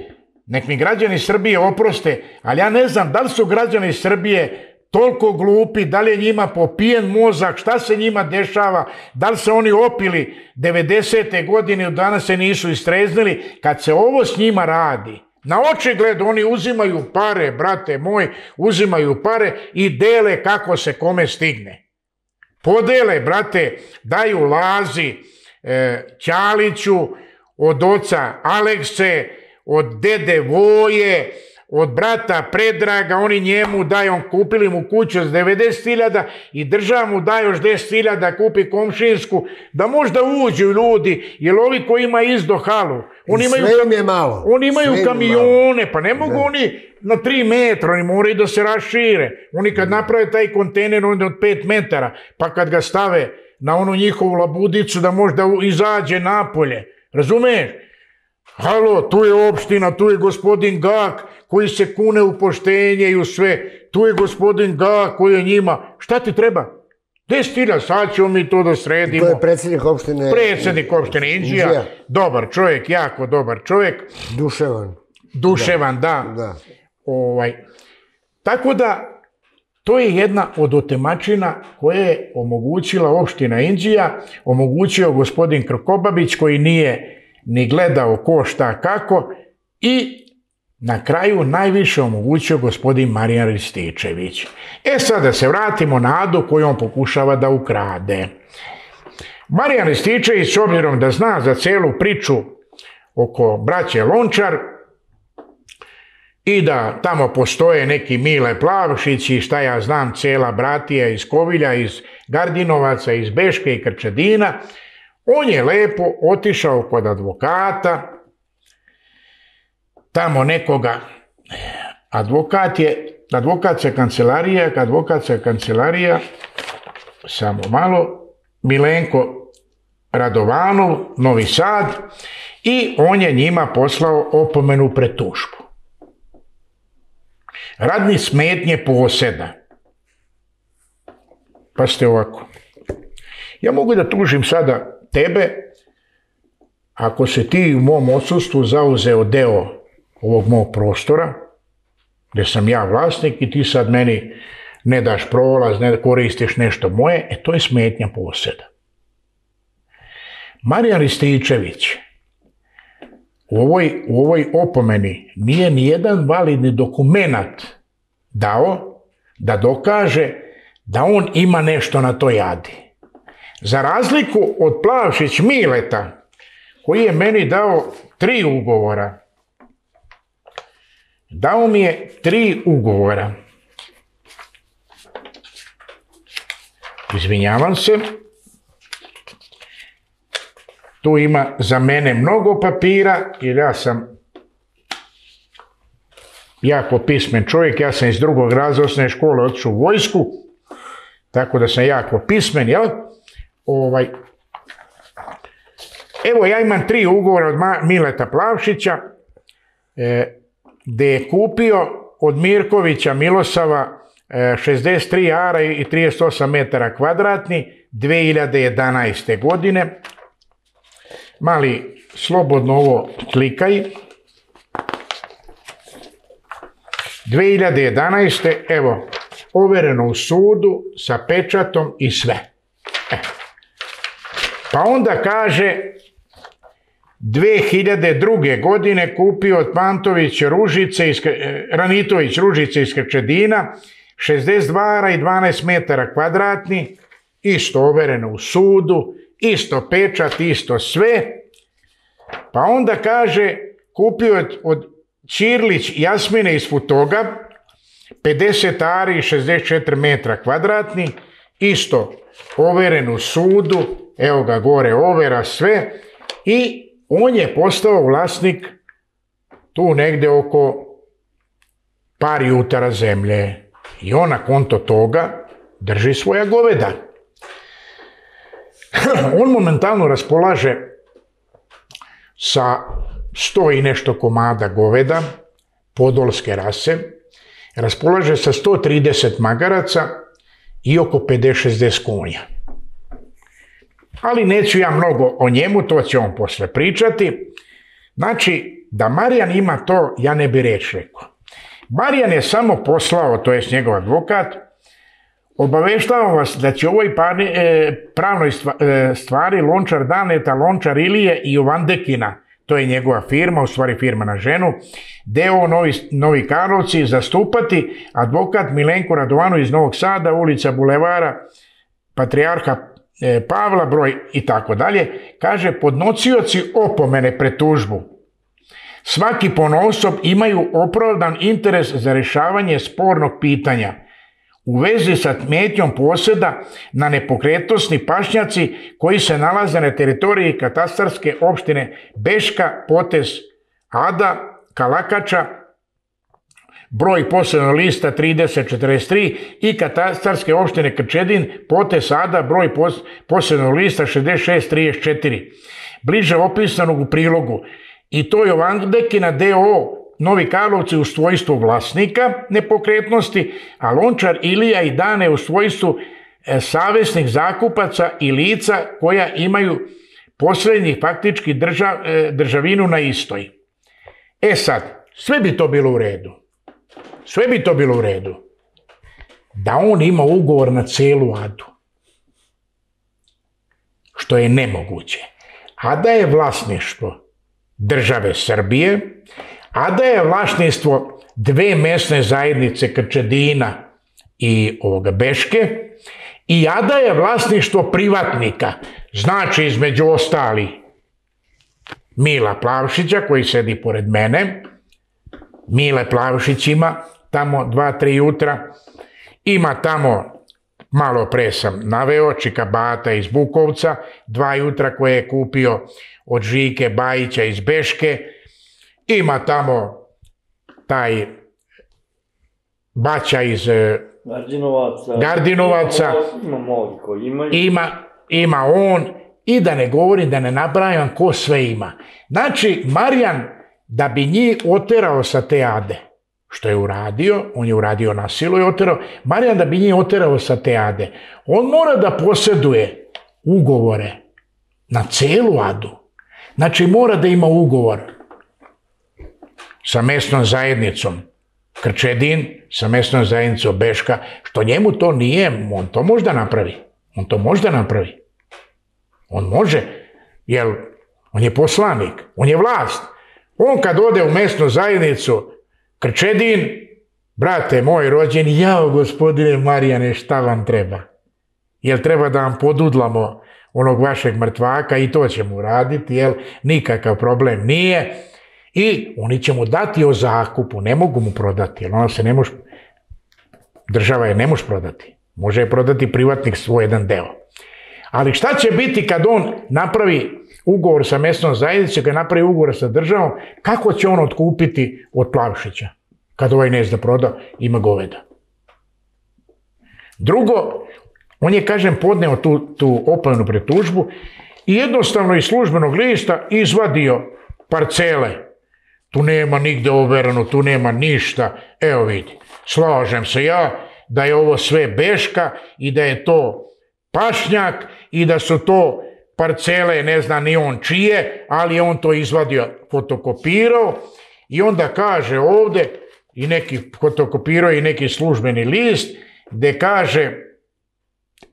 nek mi građani Srbije oproste, ali ja ne znam da li su građani Srbije toliko glupi, da li je njima popijen mozak, šta se njima dešava, da li se oni opili devedesete godine, od danas se nisu istreznili, kad se ovo s njima radi. Na očigled oni uzimaju pare, brate moj, uzimaju pare i dele kako se kome stigne. Podele, brate, daju Lazi, e, Ćaliću, od oca Alekse, od dede Voje, od brata Predraga, oni njemu daju, on kupili mu kuću za devedeset hiljada i država mu daje još deset hiljada, kupi komšinsku, da možda uđu ljudi, jer ovi koji ima izdo halu, oni imaju, sve im je malo. Oni imaju sve kamione, pa ne mogu ne. Oni na tri metra, oni moraju da se rašire. Oni kad naprave taj kontejner, onda od pet metara, pa kad ga stave na onu njihovu labudicu da možda izađe napolje, razumeš? Halo, tu je opština, tu je gospodin Gak koji se kune u poštenje i u sve. Tu je gospodin Gak koji je njima. Šta ti treba? deset hiljada, sad ćemo mi to da sredimo. To je predsjednik opštine... Predsjednik opštine Inđija. Inđija. Dobar čovjek, jako dobar čovjek. Duševan. Duševan, da. da. da. Ovaj. Tako da, to je jedna od otemačina koje je omogućila opština Inđija, omogućio gospodin Krkobabić koji nije ni gledao ko šta kako i na kraju najviše omogućio gospodin Marijan Rističević. E sad da se vratimo na Adu koju on pokušava da ukrade. Marijan Rističević, s obzirom da zna za celu priču oko braće Lončar i da tamo postoje neki Mile Plavšić i šta ja znam, cela bratija iz Kovilja, iz Gardinovaca, iz Beške i Krčedina, on je lepo otišao kod advokata, tamo nekoga, advokat je, advokatska kancelarija, advokatska kancelarija, samo malo, Milenko Radovanov, Novi Sad, i on je njima poslao opomenu pred tužbu. Radni smetnje poseda. Pa ste ovako. Ja mogu da tužim sada tebe, ako se ti u mom odsustvu zauzeo deo ovog mog prostora, gdje sam ja vlasnik i ti sad meni ne daš prolaz, ne koristiš nešto moje, e to je smetnja poseda. Marijan Rističević u ovoj, u ovoj opomeni nije ni jedan validni dokumenat dao da dokaže da on ima nešto na toj Adi. Za razliku od Plavšić Mileta, koji je meni dao tri ugovora. Dao mi je tri ugovora. Izvinjavam se. Tu ima za mene mnogo papira, jer ja sam jako pismen čovjek, ja sam iz drugog razreda osnovne škole otišao u vojsku, tako da sam jako pismen, jel? Ovaj. Evo, ja imam tri ugovora od Mileta Plavšića, e, gde je kupio od Mirkovića Milosava e, šezdeset tri ara i trideset osam metara kvadratni dve hiljade jedanaeste. godine. Mali, slobodno ovo klikaj. dve hiljade jedanaeste. evo, overeno u sudu sa pečatom i sve. E. Pa onda kaže, dve hiljade druge. godine kupio od Pantović Ružice, iz, Ranitović Ružice iz Krčedina, šezdeset dva ara i dvanaest metara kvadratni, isto overeno u sudu, isto pečat, isto sve. Pa onda kaže, kupio od, od Ćirlić Jasmine iz Futoga, pedeset ari i šezdeset četiri metra kvadratni, isto overen u sudu, evo ga gore overa sve, i on je postao vlasnik tu negde oko par jutara zemlje i on na konto toga drži svoja goveda. On momentalno raspolaže sa sto i nešto komada goveda, podolske rase, raspolaže sa sto trideset magaraca i oko pedeset šezdeset konja. Ali neću ja mnogo o njemu, to će on posle pričati. Znači, da Marijan ima to, ja ne bi reč rekao. Marijan je samo poslao, to je njegov advokat, obaveštavam vas da će u ovoj pravnoj stvari Lončar Daneta, Lončar Ilije i Jovandekina, to je njegova firma, u stvari firma na ženu, deo Novi, Novi Karlovci, zastupati advokat Milenko Radovanović iz Novog Sada, ulica Bulevara Patrijarha Pavla, broj i tako dalje. Kaže, podnosioci opomene pred tužbu svaki ponaosob imaju opravdan interes za rješavanje spornog pitanja u vezi sa smetnjom posjeda na nepokretnosni pašnjaci koji se nalaze na teritoriji katastarske opštine Beška, potez Ada, Kalakača, broj posebnog lista trideset četrdeset tri i katastarske opštine Krčedin, potez Ada, broj posebnog lista šezdeset šest trideset četiri. Bliže opisanog u prilogu. I to je Jovandekina D O O Novi Karlovci u svojstvu vlasnika nepokretnosti, a Lončar Ilija i Dane u svojstvu savesnih zakupaca i lica koja imaju posrednji faktički držav, državinu na istoj. E sad, sve bi to bilo u redu. Sve bi to bilo u redu. Da on ima ugovor na celu Adu. Što je nemoguće. Ada je vlasništvo države Srbije, Ada je vlasništvo dve mesne zajednice Krčedina i ovoga Beške, i Ada je vlasništvo privatnika, znači između ostali Mila Plavšića koji sedi pored mene. Mile Plavšić ima tamo dva, tri jutra, ima tamo, malo pre sam naveo, Čika Bata iz Bukovca, dva jutra koje je kupio od Žike Bajića iz Beške, ima tamo taj Baća iz Gardinovaca, Gardinovaca. Ima mnogi koji imaju. Ima, ima on, i da ne govorim, da ne nabrajam ko sve ima. Znači, Marijan, da bi njih oterao sa te Ade, što je uradio, on je uradio na silu i oterao, Marijan da bi njih oterao sa te Ade, on mora da posjeduje ugovore na celu Adu. Znači, mora da ima ugovor sa mesnom zajednicom Krčedin, sa mesnom zajednicom Beška, što njemu to nije, on to može da napravi. On to može da napravi. On može, jer on je poslanik, on je vlast. On kad ode u mesnu zajednicu Krčedin, brate moj rođeni, jao gospodine Marijane, šta vam treba? Jel treba da vam podudlamo onog vašeg mrtvaka, i to ćemo uraditi, jel nikakav problem nije. I oni će mu dati o zakupu, ne mogu mu prodati, jer ona se ne može, država je ne može prodati. Može je prodati privatnik svoj jedan deo. Ali šta će biti kad on napravi ugovor sa mesnom zajednicom, kad napravi ugovor sa državom, kako će on otkupiti od Plavšića? Kad ovaj ne zna da proda, ima goveda. Drugo, on je, kažem, podneo tu, tu opomenu pretužbu i jednostavno iz službenog lista izvadio parcele. Tu nema nigde overeno, tu nema ništa. Evo vidi, slažem se ja da je ovo sve Beška i da je to pašnjak i da su to parcele, ne zna ni on čije, ali je on to izvadio, fotokopirao i onda kaže ovde, i neki fotokopirao i neki službeni list, gde kaže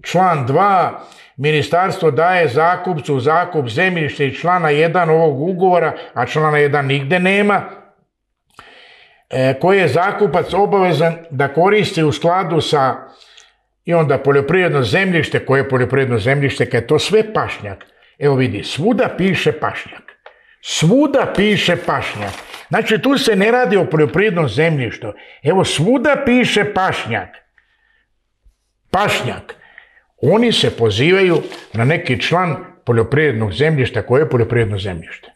član dva, ministarstvo daje zakupcu zakup zemljišta i člana jedan ovog ugovora, a člana jedan nigde nema, koji je zakupac obavezan da koristi u skladu sa, i onda poljoprivredno zemljište, koje je poljoprivredno zemljište, kad je to sve pašnjak. Evo vidi, svuda piše pašnjak. Svuda piše pašnjak. Znači, tu se ne radi o poljoprivrednom zemljištu. Evo, svuda piše pašnjak. Pašnjak. Oni se pozivaju na neki član poljoprivrednog zemljišta. Koje je poljoprivredno zemljište?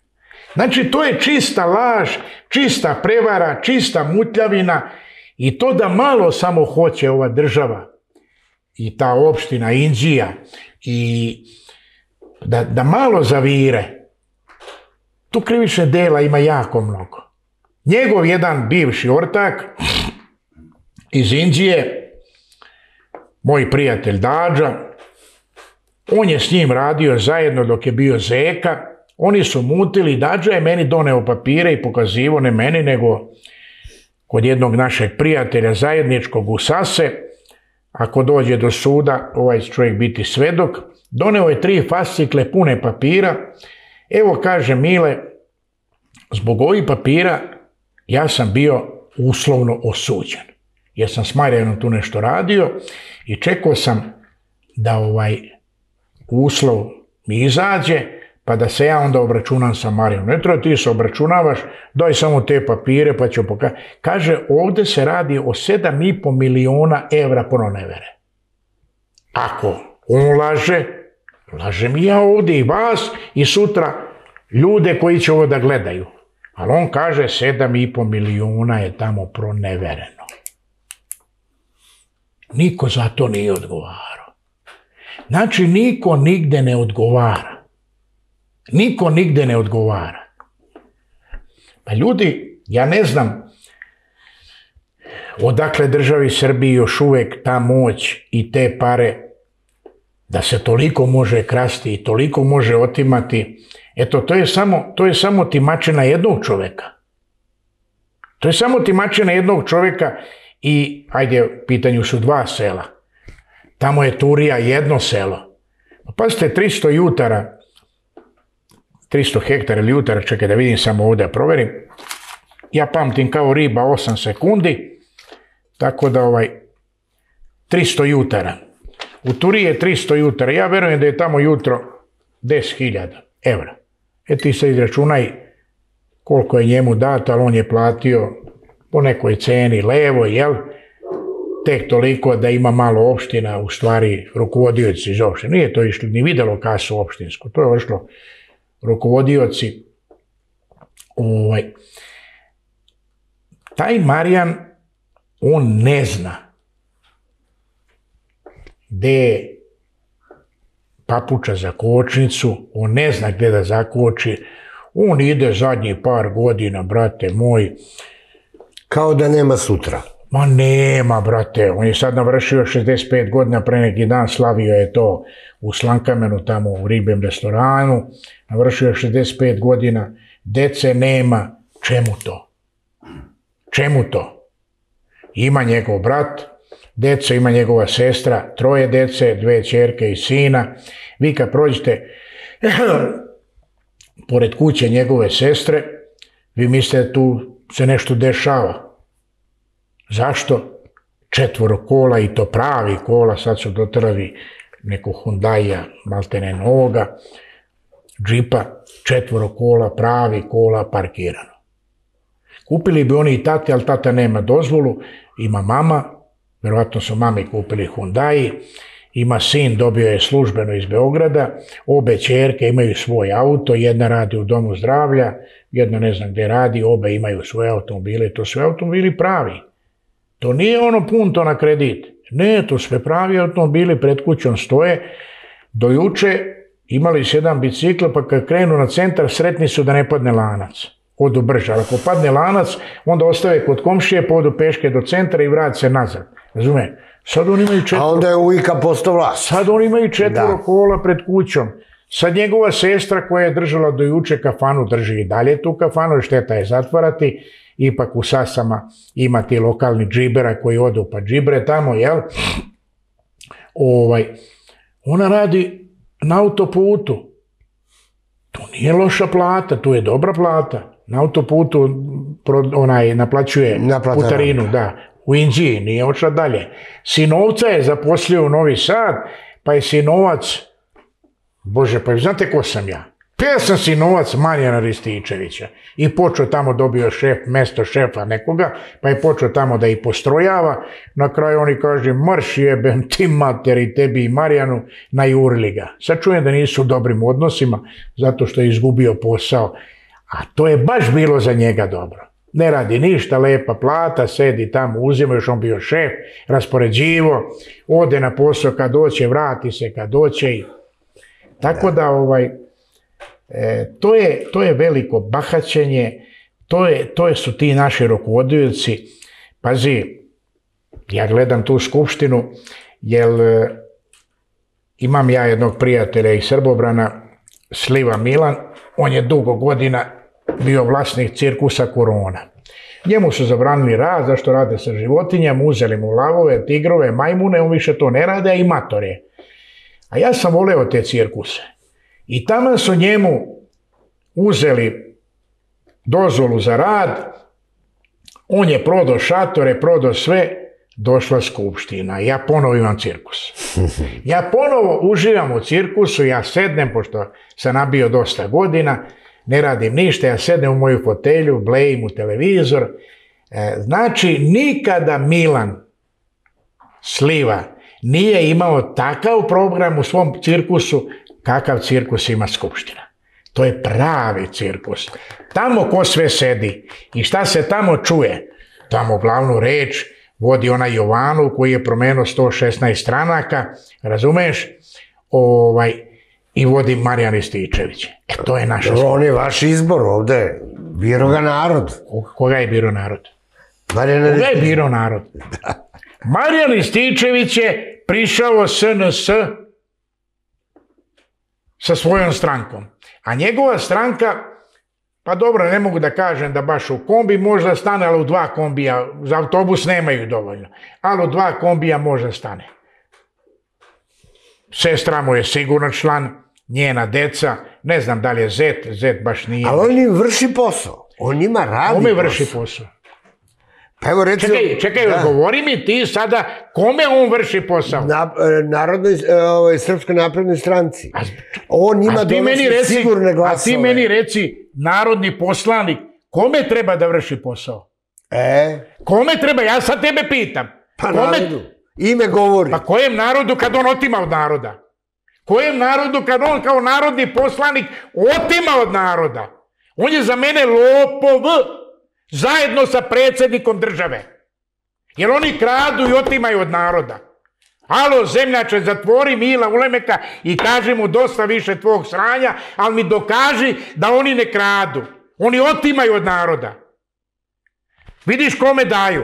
Znači, to je čista laž, čista prevara, čista mutljavina i to da malo samo hoće ova država i ta opština Inđija i da, da malo zavire. Tu krivične dela ima jako mnogo. Njegov jedan bivši ortak iz Inđije, moj prijatelj Dađa, on je s njim radio zajedno dok je bio zeka. Oni su mutili, Dađa je meni doneo papire i pokazivo, ne meni, nego kod jednog našeg prijatelja zajedničkog u Sase, ako dođe do suda, ovaj čovjek biti svedok, doneo je tri fascikle pune papira. Evo, kaže Mile, zbog ovih papira ja sam bio uslovno osuđen. Jer sam s Marijanom tu nešto radio i čekao sam da ovaj uslov mi izađe, pa da se ja onda obračunam sa Marijanom. Ne treba ti se obračunavaš, daj samo te papire pa ću pokazati. Kaže, ovdje se radi o sedam i po miliona evra pronevere. Ako on laže, lažem i ja ovdje i vas i sutra ljude koji će ovo da gledaju. Ali on kaže sedam i po miliona je tamo pronevereno. Niko za to nije odgovarao. Znači, niko nigde ne odgovara. Niko nigde ne odgovara. Pa ljudi, ja ne znam odakle državi Srbiji još uvek ta moć i te pare da se toliko može krasti i toliko može otimati. Eto, to je samo, to je samo timačina jednog čoveka. To je samo timačina jednog čoveka i, ajde, u pitanju su dva sela. Tamo je Turija jedno selo. Pa pazite, tristo jutara, tristo hektara ili jutara, čekaj da vidim samo ovdje, da proverim. Ja pamtim kao riba osam sekundi, tako da ovaj, tristo jutara. U Turiji je tristo jutara, ja verujem da je tamo jutro deset hiljada evra. E ti se izračunaj koliko je njemu dato, ali on je platio po nekoj ceni levo, jel? Tek toliko da ima malo opština, u stvari rukovodioci iz opštine. Nije to išlo ni videlo kasu opštinsku, to je išlo rukovodioci. Ovaj. Taj Marijan, on ne zna gde je papuča za kočnicu, on ne zna gde da zakoči, on ide zadnjih par godina, brate moj. Kao da nema sutra. Ma nema, brate, on je sad navršio šezdeset pet godina, pre neki dan slavio je to u Slankamenu, tamo u ribljem restoranu, navršio je šezdeset pet godina, dece nema, čemu to? Čemu to? Ima njegov brat, deco, ima njegova sestra, troje dece, dve ćerke i sina. Vi kad prođete pored kuće njegove sestre, vi mislite da tu se nešto dešava. Zašto? Četvoro kola, i to pravi kola, sad su dotrali nekog Hyundaia, maltene novoga, džipa, četvoro kola, pravi kola, parkirano. Kupili bi oni i tate, ali tata nema dozvolu, ima mama, verovatno su mami kupili Hyundai, ima sin, dobio je službeno iz Beograda, obe ćerke imaju svoj auto, jedna radi u domu zdravlja, jedna ne znam gde radi, obe imaju svoje automobile, to sve automobili pravi. To nije ono punto na kredit. Ne, to sve pravi automobili pred kućom stoje. Do juče imali su jedan bicikl, pa kad krenu na centar, sretni su da ne padne lanac. Odu brže, ali ako padne lanac, onda ostave kod komšije, podu peške do centra i vrati se nazad. Razume? Sad oni imaju četvoro... A onda je uvijek postao vlast. Sad oni imaju četvoro kola pred kućom. Sad njegova sestra koja je držala do juče kafanu, drži i dalje tu kafanu, šteta je zatvarati. Ipak u Sasama ima ti lokalni džibera koji odu pa džibre tamo, jel? Ovaj, ona radi na autoputu. To nije loša plata, to je dobra plata. Na autoputu onaj naplaćuje putarinu, da. U Inđiji, nije ošla dalje. Sinovca je zaposlio u Novi Sad, pa je sinovac, bože, pa znate ko sam ja? Pa ja sam sinovac Marijana Rističevića i počeo tamo, dobio šef, mesto šefa nekoga, pa je počeo tamo da ih postrojava. Na kraju oni kaže, marš jebem ti materi, tebi i Marijanu, najurili ga. Sad čujem da nisu u dobrim odnosima, zato što je izgubio posao. A to je baš bilo za njega dobro. Ne radi ništa, lepa plata, sedi tamo, uzima, još on bio šef, raspoređivo, ode na posao kad doće, vrati se kad doće. I... Tako da, ovaj... E, to, je, to je veliko bahaćenje, to, je, to je su ti naši rukovodioci. Pazi, ja gledam tu skupštinu, jer imam ja jednog prijatelja iz Srbobrana, Sliva Milan, on je dugo godina bio vlasnik cirkusa Korona. Njemu su zabranili rad, zašto rade sa životinjama, uzeli mu lavove, tigrove, majmune, on više to ne rade, a i matore. A ja sam voleo te cirkuse. I tamo su njemu uzeli dozvolu za rad, on je prodao šatore, prodao sve, došla skupština. Ja ponovo imam cirkus. Ja ponovo uživam u cirkusu, ja sednem, pošto sam nabio dosta godina, ne radim ništa, ja sednem u moju fotelju, blejim u televizor. Znači, nikada Milan Sliva nije imao takav program u svom cirkusu kakav cirkus ima skupština. To je pravi cirkus. Tamo ko sve sedi i šta se tamo čuje, tamo glavnu reč vodi onaj Jovanov koji je promenio sto šesnaest stranaka, razumeš, ovaj, i vodi Marijan Rističević. E, to je naša skupština. On je vaš izbor ovde, biro ga narod. Koga je biro narod? Marijan Koga je biro narod? Marijan Rističević je prišao S N S sa svojom strankom. A njegova stranka, pa dobro, ne mogu da kažem da baš u kombi možda stane, ali u dva kombija, za autobus nemaju dovoljno, ali u dva kombija možda stane. Sestra mu je sigurno član, njena deca, ne znam da li je zet, zet baš nije. Ali on im vrši posao, on njima radi Kome posao. vrši posao? Pa evo recimo... Čekaj, čekaj, da. Odgovori mi ti sada kome on vrši posao? Na, narodnoj, ovaj, Srpskoj naprednoj stranci. A, on njima donosi reci, sigurne glasove. A ti meni reci, narodni poslanik, kome treba da vrši posao? E? Kome treba? Ja sad tebe pitam. Pa kome... narodu. Ime govori. Pa kojem narodu kad on otima od naroda? Kojem narodu kad on kao narodni poslanik otima od naroda? On je za mene lopov. Zajedno sa predsjednikom države. Jer oni kradu i otimaju od naroda. Alo, zemljače, zatvori Mila Ulemeka i kaži mu dosta više tvog sranja, ali mi dokaži da oni ne kradu. Oni otimaju od naroda. Vidiš kome daju?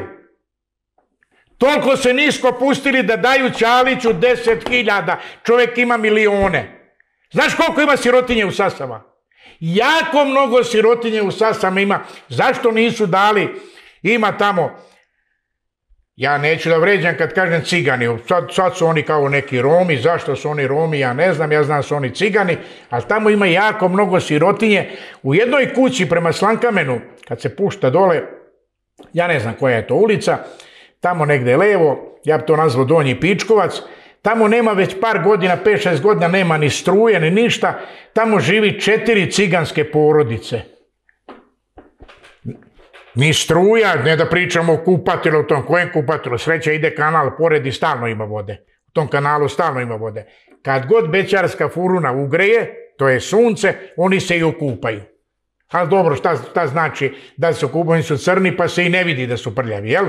Toliko se nisko pustili da daju Ćaliću deset hiljada. Čovjek ima milione. Znaš koliko ima sirotinje u Sasama? Jako mnogo sirotinje u Sasama ima. Zašto nisu dali? Ima tamo, ja neću da vređam kad kažem cigani, sad, sad su oni kao neki Romi, zašto su oni Romi, ja ne znam, ja znam su oni cigani, ali tamo ima jako mnogo sirotinje. U jednoj kući prema Slankamenu, kad se pušta dole, ja ne znam koja je to ulica, tamo negde levo, ja bi to nazvao Donji Pičkovac, tamo nema već par godina, pet šest godina, nema ni struje, ni ništa. Tamo živi četiri ciganske porodice. Ni struja, ne da pričamo o kupatilu, o tom kojem kupatilu. Sreća ide kanal, pored i stalno ima vode. U tom kanalu stalno ima vode. Kad god bećarska furuna ugreje, to je sunce, oni se i okupaju. Ali dobro, šta, šta znači da se okupaju, oni su crni pa se i ne vidi da su prljavi, jel?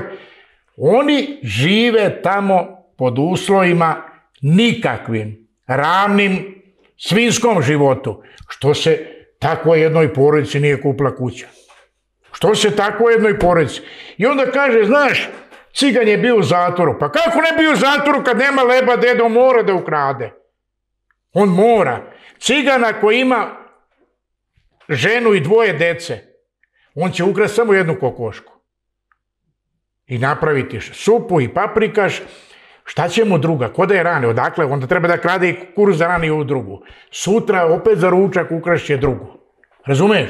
Oni žive tamo pod uslovima nikakvim, ravnim svinskom životu. Što se tako jednoj porodici nije kupila kuća? Što se tako jednoj porodici? I onda kaže, znaš, cigan je bio u zatvoru. Pa kako ne bio u zatvoru kad nema leba, dedo mora da ukrade? On mora. Cigana koji ima ženu i dvoje dece, on će ukrasti samo jednu kokošku. I napraviti supu i paprikaš. Šta će mu druga? Ko da je rane? Odakle? Onda treba da krade i kukuruz da rani u drugu. Sutra opet za ručak ukrašće drugu. Razumeš?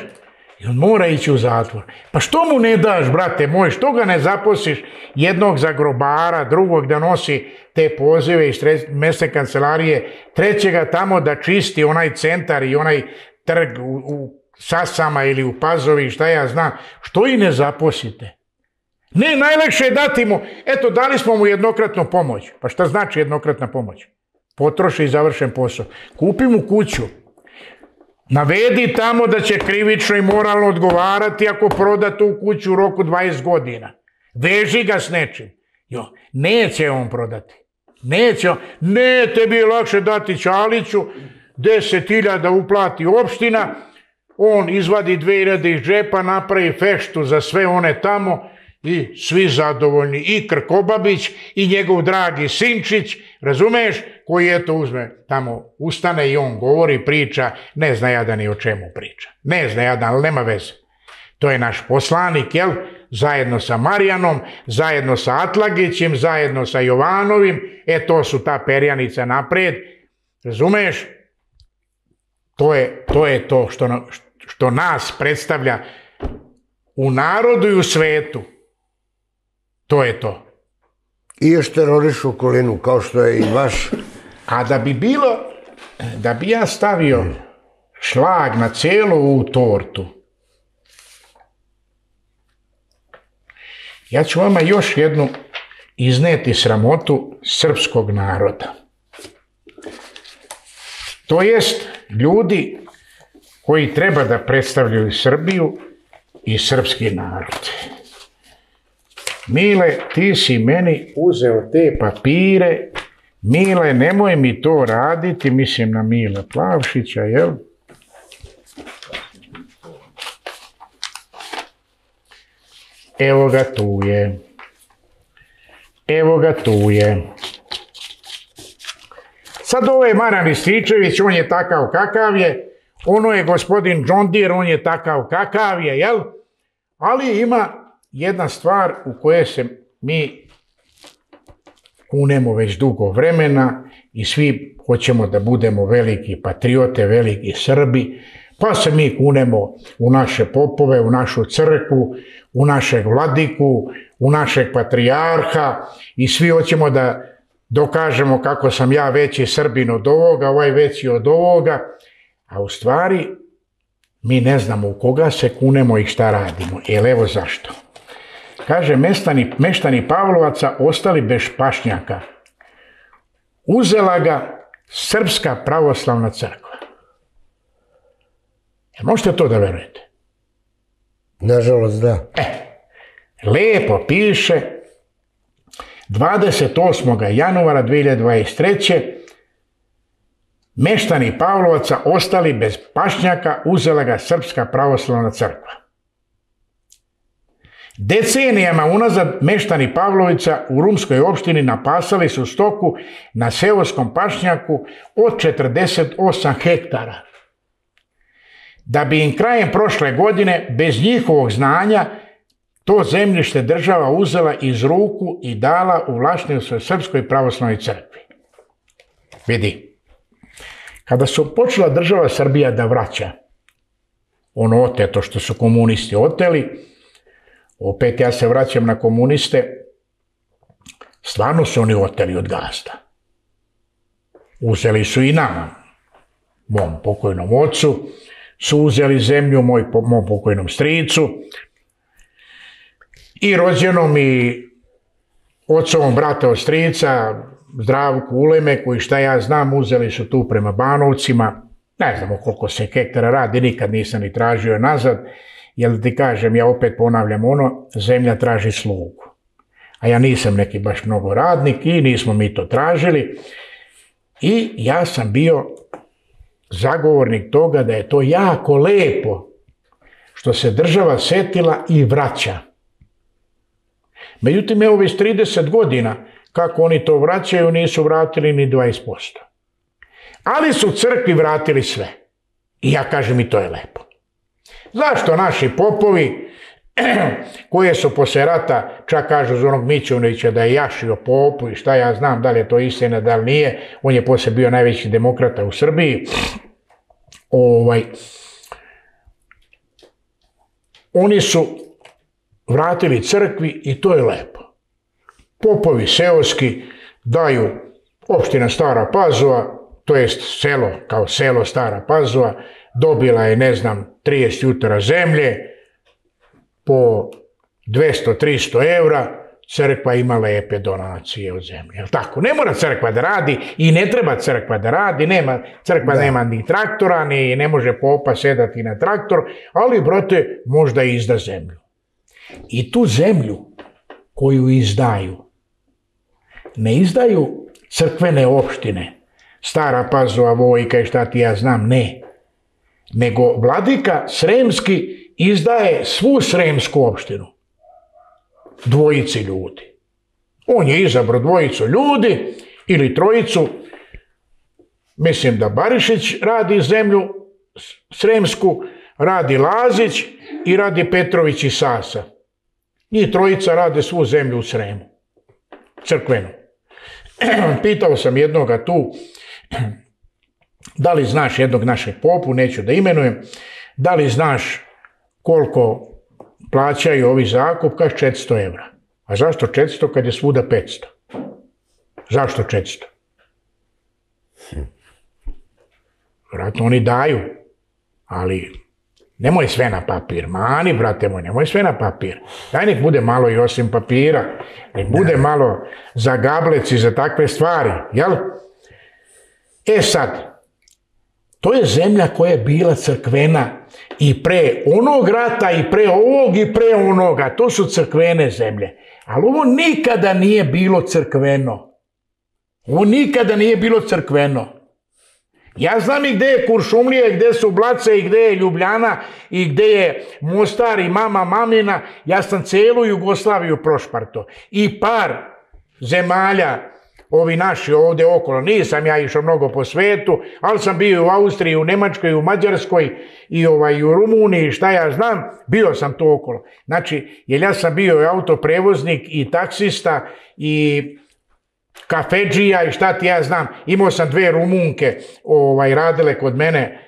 I on mora ići u zatvor. Pa što mu ne daš, brate moj? Što ga ne zaposliš jednog za grobara, drugog da nosi te pozive iz mesne kancelarije, trećega tamo da čisti onaj centar i onaj trg u, u Sasama ili u Pazovi, šta ja znam, što i ne zaposlite? Ne, najlakše je dati mu, eto, dali smo mu jednokratnu pomoć. Pa šta znači jednokratna pomoć? Potroši i završen posao. Kupi mu kuću. Navedi tamo da će krivično i moralno odgovarati ako proda tu kuću u roku dvadeset godina. Veži ga s nečim. Jo, neće on prodati. Neće on. Ne, tebi je lakše dati Čaliću, deset hiljada uplati opština, on izvadi dve hiljade iz džepa, napravi feštu za sve one tamo i svi zadovoljni. I Krkobabić i njegov dragi Sinčić, razumeš, koji eto uzme tamo, ustane i on govori, priča, ne zna jadan ni o čemu priča. Ne zna jadan, ali nema veze. To je naš poslanik, jel? Zajedno sa Marijanom, zajedno sa Atlagićem, zajedno sa Jovanovim, e to su ta perjanica napred, razumeš? To je to, je to što, što nas predstavlja u narodu i u svetu. To je to. I još terorišu okolinu, kao što je i vaš. A da bi bilo, da bi ja stavio šlag na cijelu ovu tortu, ja ću vama još jednu izneti sramotu srpskog naroda. To jest ljudi koji treba da predstavljaju Srbiju i srpski narod. Mile, ti si meni uzeo te papire. Mile, nemoj mi to raditi, mislim na Mile Plavšića, jel? Evo ga tu je. Evo ga tu je. Sad ovaj Marijan Rističević, on je takav kakav je, ono je gospodin John Deere, on je takav kakav je, jel? Ali ima jedna stvar u kojoj se mi kunemo već dugo vremena i svi hoćemo da budemo veliki patriote, veliki Srbi, pa se mi kunemo u naše popove, u našu crkvu, u našeg vladiku, u našeg patrijarha i svi hoćemo da dokažemo kako sam ja veći Srbin od ovoga, ovaj veći od ovoga, a u stvari mi ne znamo u koga se kunemo i šta radimo. Jer evo zašto. Kaže, meštani, meštani Pavlovaca ostali bez pašnjaka. Uzela ga Srpska pravoslavna crkva. Jel možete to da verujete? Nažalost, da. E, lepo piše, dvadeset osmog januara dve hiljade dvadeset treće meštani Pavlovaca ostali bez pašnjaka, uzela ga Srpska pravoslavna crkva. Decenijama unazad meštani Pavlovića u Rumskoj opštini napasali su stoku na seoskom pašnjaku od četrdeset osam hektara. Da bi im krajem prošle godine, bez njihovog znanja, to zemljište država uzela iz ruku i dala u vlasništvo Srpskoj pravoslavnoj crkvi. Vidi, kada su počela država Srbija da vraća ono oteto što su komunisti oteli, opet ja se vraćam na komuniste, stvarno su oni oteli od gazda. Uzeli su i nama, mom pokojnom ocu, su uzeli zemlju moj, mom pokojnom stricu i rođenom i ocovom brata od strica, Zdravku Ulemeku i šta ja znam, uzeli su tu prema Banovcima. Ne znamo koliko se hektara radi, nikad nisam ni tražio nazad, jer ti kažem, ja opet ponavljam ono, zemlja traži slugu. A ja nisam neki baš mnogo radnik i nismo mi to tražili. I ja sam bio zagovornik toga da je to jako lepo što se država setila i vraća. Međutim, evo već trideset godina kako oni to vraćaju, nisu vratili ni dvadeset posto. Ali su crkvi vratili sve. I ja kažem i to je lepo. Zašto naši popovi, koje su posle rata, čak kažu za onog Mićunovića da je jašio popu i šta ja znam, da li je to istina, da li nije, on je posle bio najveći demokrata u Srbiji, ovaj, oni su vratili crkvi i to je lepo. Popovi seoski daju opština Stara Pazova, to jest selo, kao selo Stara Pazova, dobila je, ne znam, trideset jutara zemlje, po dvesta do trista evra, crkva ima lepe donacije od zemlje. Jel tako? Ne mora crkva da radi i ne treba crkva da radi, nema, crkva da. nema ni traktora, ni ne može popa sedati na traktor, ali, brate, možda izda zemlju. I tu zemlju koju izdaju, ne izdaju crkvene opštine, Stara Pazova, Vojka i šta ti ja znam, ne. Nego vladika Sremski izdaje svu Sremsku opštinu. Dvojici ljudi. On je izabrao dvojicu ljudi ili trojicu. Mislim da Barišić radi zemlju Sremsku, radi Lazić i radi Petrović i Sasa. Njih trojica rade svu zemlju u Sremu. Crkvenu. Pitao sam jednoga tu, da li znaš jednog našeg popu, neću da imenujem, da li znaš koliko plaćaju ovi zakup, kaže četiristo evra. A zašto četiristo kad je svuda petsto? Zašto četiristo? Vratno oni daju, ali nemoj sve na papir. Mani, brate moj, nemoj sve na papir. Daj nek bude malo i osim papira, nek bude malo za gablec i za takve stvari, jel? E sad, to je zemlja koja je bila crkvena i pre onog rata, i pre ovog, i pre onoga. To su crkvene zemlje. Ali ovo nikada nije bilo crkveno. Ovo nikada nije bilo crkveno. Ja znam i gde je Kuršumlija, i gde su Blace, i gde je Ljubljana, i gde je Mostar, i mama Mamina. Ja sam celu Jugoslaviju prošparto. I par zemalja, ovi naši ovde okolo, nisam ja išao mnogo po svetu, ali sam bio u Austriji, u Nemačkoj, u Mađarskoj i ovaj, u Rumuniji, šta ja znam, bio sam to okolo. Znači, jer ja sam bio i autoprevoznik i taksista i kafedžija i šta ti ja znam, imao sam dve Rumunke ovaj, radile kod mene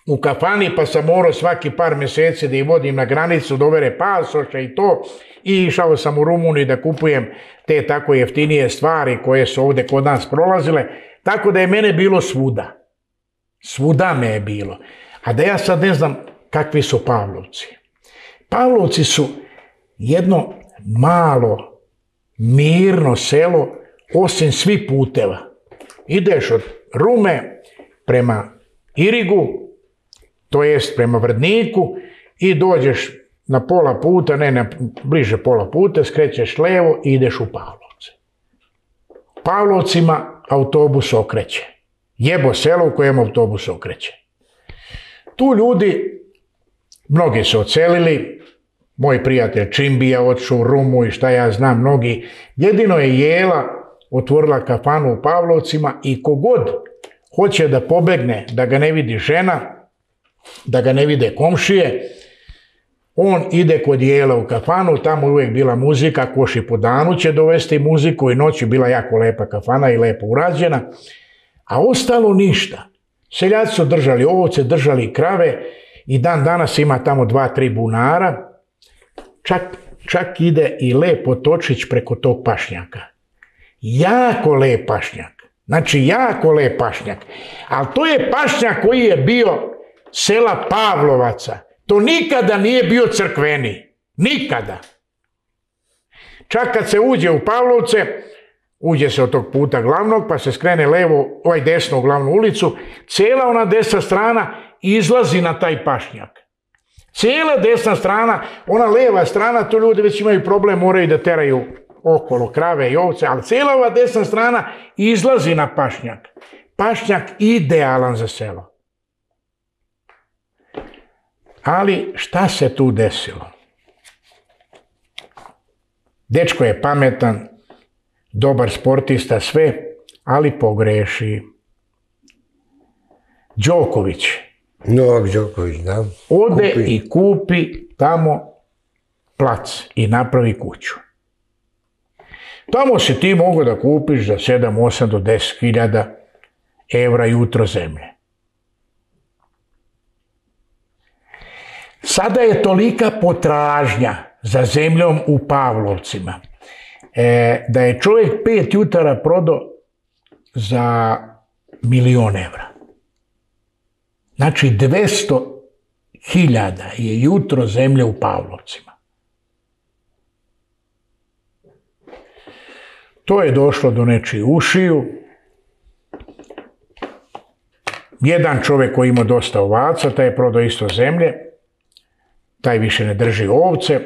u kafani, pa sam morao svaki par meseci da ih vodim na granicu, da overe pasoše i to, i išao sam u Rumuniju da kupujem te tako jeftinije stvari koje su ovde kod nas prolazile, tako da je mene bilo svuda. Svuda me je bilo. A da ja sad ne znam kakvi su Pavlovci. Pavlovci su jedno malo, mirno selo, osim svih puteva. Ideš od Rume prema Irigu, to jest prema Vrdniku, i dođeš na pola puta, ne, na bliže pola puta, skrećeš levo i ideš u Pavlovce. Pavlovcima autobus okreće. Jebo selo u kojem autobus okreće. Tu ljudi, mnogi su odselili, moj prijatelj Čimbija otišao u Rumu i šta ja znam, mnogi. Jedino je Jela otvorila kafanu u Pavlovcima i kogod hoće da pobegne, da ga ne vidi žena, da ga ne vide komšije, on ide kod Jela u kafanu, tamo je uvijek bila muzika, koš i po danu će dovesti muziku i noć je bila jako lepa kafana i lepo urađena, a ostalo ništa. Seljaci su držali ovce, držali krave i dan danas ima tamo dva, tri bunara, čak, čak ide i lep potočić preko tog pašnjaka. Jako lep pašnjak, znači jako lep pašnjak, ali to je pašnjak koji je bio sela Pavlovaca. To nikada nije bio crkveni. Nikada. Čak kad se uđe u Pavlovce, uđe se od tog puta glavnog, pa se skrene levo, ovaj desno u glavnu ulicu, cijela ona desna strana izlazi na taj pašnjak. Cijela desna strana, ona leva strana, to ljudi već imaju problem, moraju da teraju okolo krave i ovce, ali cijela ova desna strana izlazi na pašnjak. Pašnjak idealan za selo. Ali šta se tu desilo? Dečko je pametan, dobar sportista, sve, ali pogreši. Đoković. Novak Đoković, da. Ode kupi. I kupi tamo plac i napravi kuću. Tamo si ti mogu da kupiš za sedam, osam do deset hiljada evra jutro zemlje. Sada je tolika potražnja za zemljom u Pavlovcima, e, da je čovjek pet jutara prodao za milion evra. Znači, dvesta hiljada je jutro zemlje u Pavlovcima. To je došlo do nečiji ušiju. Jedan čovjek koji ima dosta ovaca, taj je prodao isto zemlje, taj više ne drži ovce.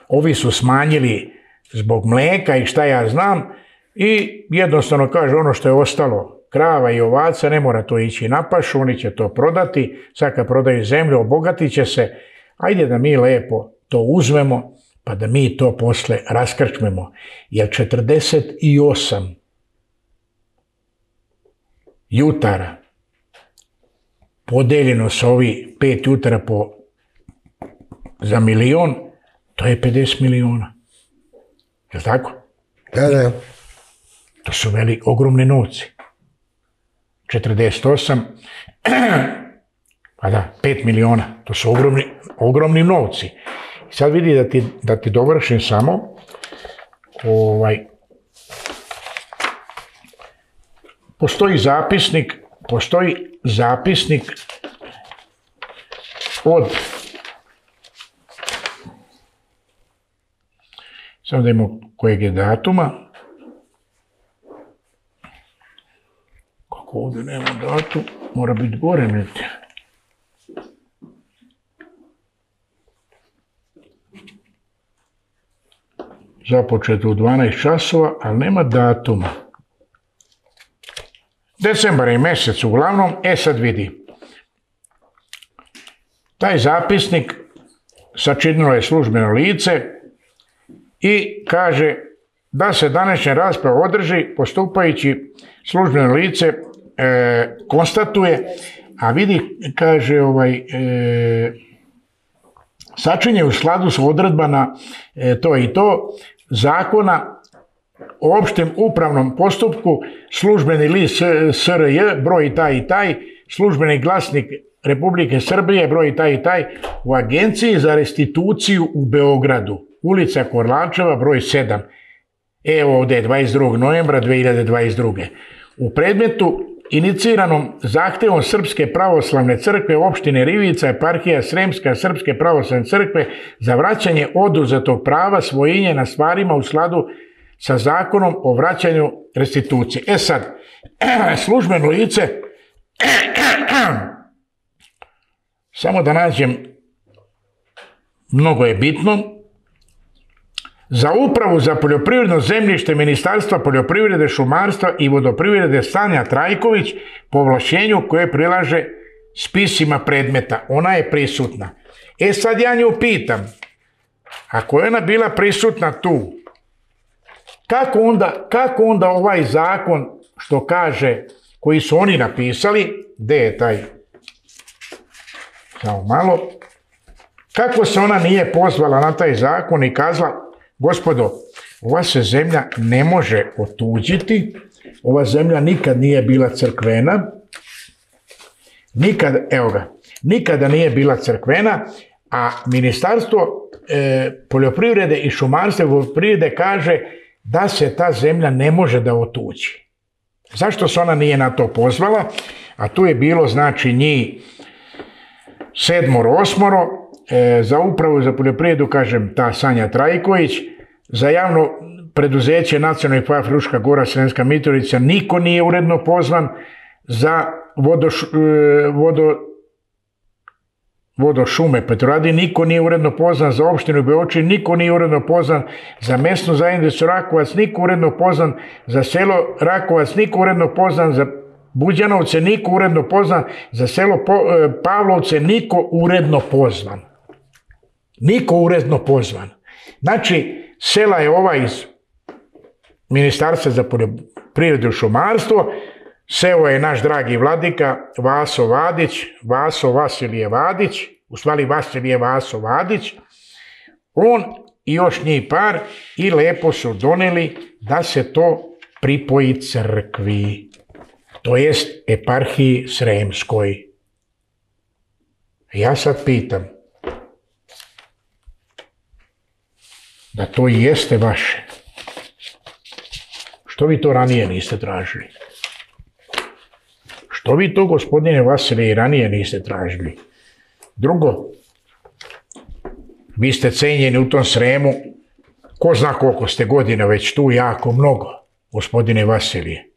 Ovi su smanjili zbog mlijeka i šta ja znam i jednostavno kaže ono što je ostalo krava i ovaca, ne mora to ići na pašu, oni će to prodati, sad kad prodaju zemlju obogatit će se, ajde da mi lepo to uzmemo pa da mi to posle raskrčmemo. Jer četrdeset osam jutara podeljeno sa ovi pet jutara po, za milion, to je pedeset miliona. Je li tako? Da, da. To su veli ogromne novci. četrdeset osam, pa da, pet miliona, to su ogromni, ogromni novci. I sad vidi da ti, da ti dovršim samo, ovaj, postoji zapisnik, postoji zapisnik od, samo da imamo kojeg je datuma, kako ovdje nema datum, mora biti gore negdje. Započeto u dvanaest časova, ali nema datuma. Decembar je mjesec uglavnom, e sad vidi. Taj zapisnik sačinilo je službeno lice i kaže da se današnja rasprava održi postupajući službeno lice e, konstatuje, a vidi, kaže ovaj, e, sačinje u skladu s odredbama e, to i to zakona o opštem upravnom postupku, službeni list S R J, broj taj i taj, službeni glasnik Republike Srbije, broj taj i taj, u Agenciji za restituciju u Beogradu, ulica Korlačeva, broj sedam. Evo ovdje je dvadeset drugog novembra dve hiljade dvadeset druge. U predmetu iniciranom zahtevom Srpske pravoslavne crkve opštine Rivica, eparhija Sremska Srpske pravoslavne crkve za vraćanje oduzetog prava svojinje na stvarima u skladu sa zakonom o vraćanju restitucije. E sad, službeno lice, samo da nađem, mnogo je bitno, za upravu za poljoprivredno zemljište Ministarstva poljoprivrede, šumarstva i vodoprivrede Sanja Trajković po ovlašćenju koje prilaže spisima predmeta. Ona je prisutna. E sad ja nju pitam, ako je ona bila prisutna tu, kako onda, kako onda ovaj zakon što kaže, koji su oni napisali, gdje je taj, samo malo, kako se ona nije pozvala na taj zakon i kazala, gospodo, ova se zemlja ne može otuđiti, ova zemlja nikad nije bila crkvena, nikad, evo ga, nikada nije bila crkvena, a Ministarstvo e, poljoprivrede i šumarstva i vodoprivrede kaže da se ta zemlja ne može da otuđi. Zašto se ona nije na to pozvala? A tu je bilo, znači, njih sedmoro, osmoro, e, za upravu za poljoprivredu, kažem, ta Sanja Trajković, za javno preduzeće Nacionalni park Fruška Gora, Sremska Mitrovica, niko nije uredno pozvan, za vodo, vodo, vodošume Petrovaradin, niko nije uredno pozvan, za opštinu Beočin, niko nije uredno pozvan, za mesnu zajednicu Rakovac, niko uredno pozvan, za selo Rakovac, niko uredno pozvan, za Buđanovce, niko uredno pozvan, za selo Pavlovce, niko uredno pozvan. Niko uredno pozvan. Znači, sela je ova iz Ministarstva za poljoprivredu i šumarstvo, seo je naš dragi vladika Vaso Vadić, Vaso Vasilije Vadić, u stvari Vasilije Vaso Vadić, on i još njih par, i lepo su doneli da se to pripoji crkvi, to jest eparhiji Sremskoj. Ja sad pitam, da to i jeste vaše, što vi to ranije niste tražili? Što Što vi to, gospodine Vasilije, i ranije niste tražili? Drugo, vi ste cenjeni u tom Sremu, ko zna koliko ste godina već tu, jako mnogo, gospodine Vasilije.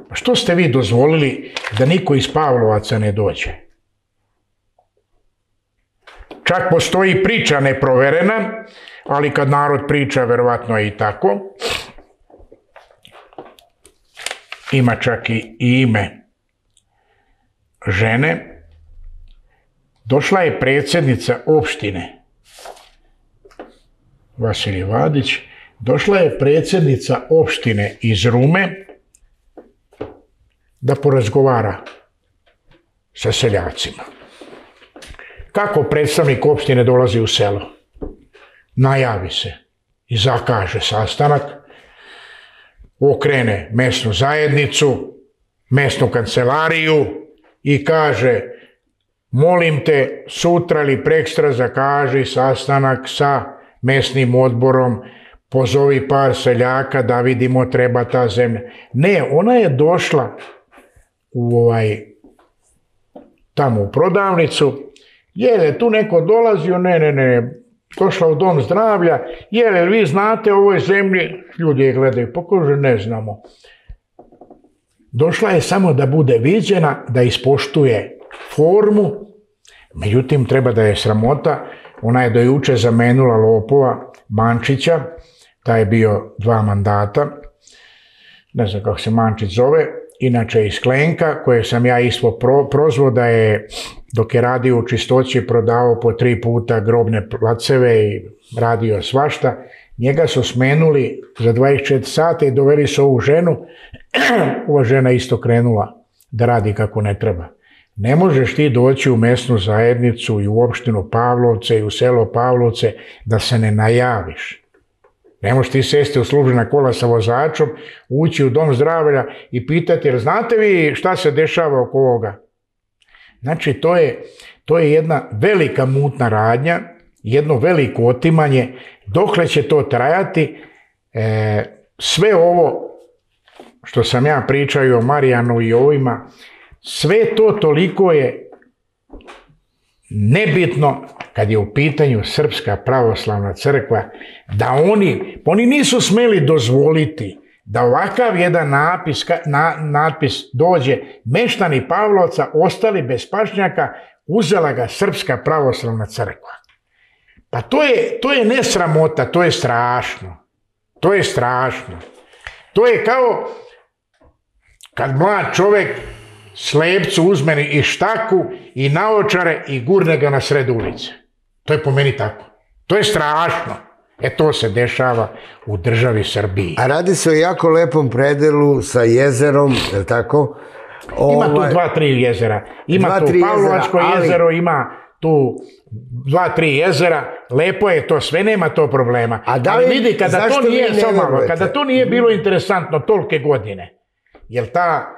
Pa što ste vi dozvolili da niko iz Pavlovaca ne dođe? Čak postoji priča neproverena, ali kad narod priča, verovatno je i tako. Ima čak i ime žene. Došla je predsjednica opštine, Vasilij Vadić, došla je predsjednica opštine iz Rume da porazgovara sa seljacima. Kako predstavnik opštine dolazi u selo? Najavi se i zakaže sastanak, okrene mesnu zajednicu, mesnu kancelariju i kaže: molim te, sutra ili prekstra zakaži sastanak sa mesnim odborom, pozovi par seljaka da vidimo treba ta zemlja. Ne, ona je došla u ovaj, tamo u prodavnicu, je li tu neko dolazio? Ne, ne, ne, došla u dom zdravlja, je li vi znate o ovoj zemlji? Ljudi je gledaju, pa kaže ne znamo. Došla je samo da bude viđena, da ispoštuje formu, međutim treba da je sramota, ona je do juče zamenula lopova Mančića, taj je bio dva mandata, ne znam kako se Mančić zove, inače iz Klenka, koje sam ja isto pro, prozvao da je, dok je radio u čistoći, prodavao po tri puta grobne placeve i radio svašta. Njega su smenuli za dvadeset četiri sata i doveli su ovu ženu. Ova žena isto krenula da radi kako ne treba. Ne možeš ti doći u mesnu zajednicu i u opštinu Pavlovce i u selo Pavlovce da se ne najaviš. Ne možeš ti sesti u službena kola sa vozačom, ući u dom zdravlja i pitati: jer znate vi šta se dešava oko ovoga? Znači, to je, to je jedna velika mutna radnja, jedno veliko otimanje. Dokle će to trajati? E, sve ovo što sam ja pričao o Marijanu i ovima, sve to toliko je nebitno kad je u pitanju Srpska pravoslavna crkva, da oni, oni nisu smeli dozvoliti da ovakav jedan napis, na, natpis dođe: meštani Pavlovca ostali bez pašnjaka, uzela ga Srpska pravoslavna crkva. Pa to je, to je ne sramota, to je strašno. To je strašno. To je kao kad mlad čovjek slepcu uzme i štaku i naočare i gurne ga na sred ulice. To je po meni tako. To je strašno. E to se dešava u državi Srbiji. A radi se o jako lepom predelu sa jezerom, je li tako? Ima tu dva, tri jezera. Ima Dva, tu tri Pavlovačko jezera, ali- jezero, ima tu dva, tri jezera. Lepo je to, sve nema to problema. A da li- Ali vidi, kada zašto to vi nije, ne samo malo, verujete? kada to nije bilo interesantno tolike godine, jer ta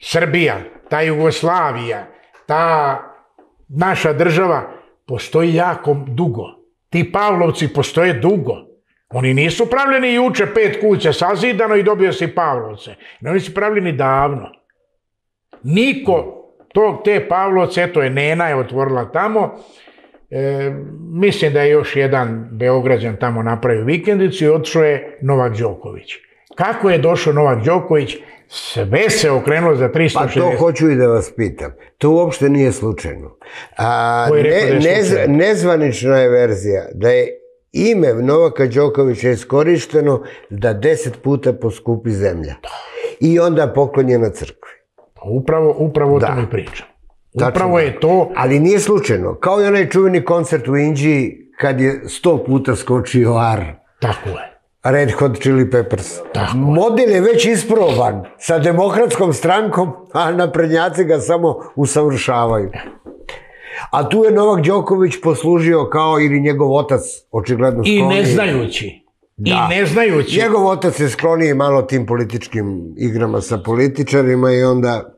Srbija, ta Jugoslavija, ta naša država postoji jako dugo. Ti Pavlovci postoje dugo. Oni nisu pravljeni juče, pet kuća sazidano i dobio si Pavlovce. Ne, oni su pravljeni davno. Niko tog, te Pavlovce, eto je Nena je otvorila tamo, e, mislim da je još jedan Beograđan tamo napravio vikendicu i otišao je Novak Đoković. Kako je došao Novak Đoković? Sve se okrenulo za tristo šezdeset. Pa to hoću i da vas pitam. To uopšte nije slučajno. A, Ko je rekao da je ne, slučajno? nezvanična je verzija da je ime Novaka Đokovića iskorišteno da deset puta poskupi zemlja. I onda poklonjena crkvi. Upravo, upravo o Da. tome pričam. Tačno Upravo da. je to. Ali nije slučajno. Kao i onaj čuveni koncert u Indiji kad je sto puta skočio ar. Tako je. Red Hot Chili Peppers. Tako je. Model je već isproban sa demokratskom strankom, a naprednjaci ga samo usavršavaju. A tu je Novak Đoković poslužio kao ili njegov otac, očigledno I skloniji. ne znajući. Da. I ne znajući. Njegov otac je skloniji malo tim političkim igrama sa političarima i onda,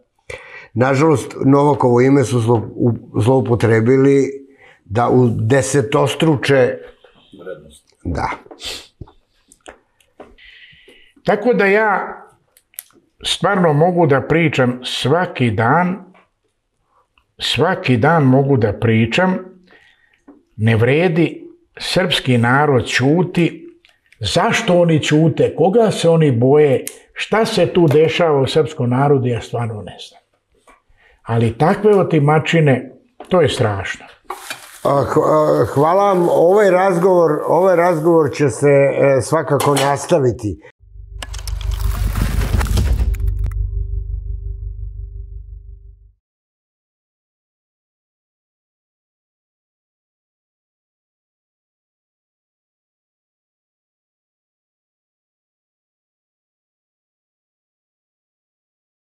nažalost, Novakovo ime su zlo, u- zloupotrebili da u desetostruče... Da. Tako da ja stvarno mogu da pričam svaki dan, svaki dan mogu da pričam, ne vredi, srpski narod ćuti, zašto oni ćute, koga se oni boje, šta se tu dešava u srpskom narodu, ja stvarno ne znam. Ali takve otimačine, to je strašno. Hvala vam, ovaj razgovor, ovaj razgovor će se svakako nastaviti.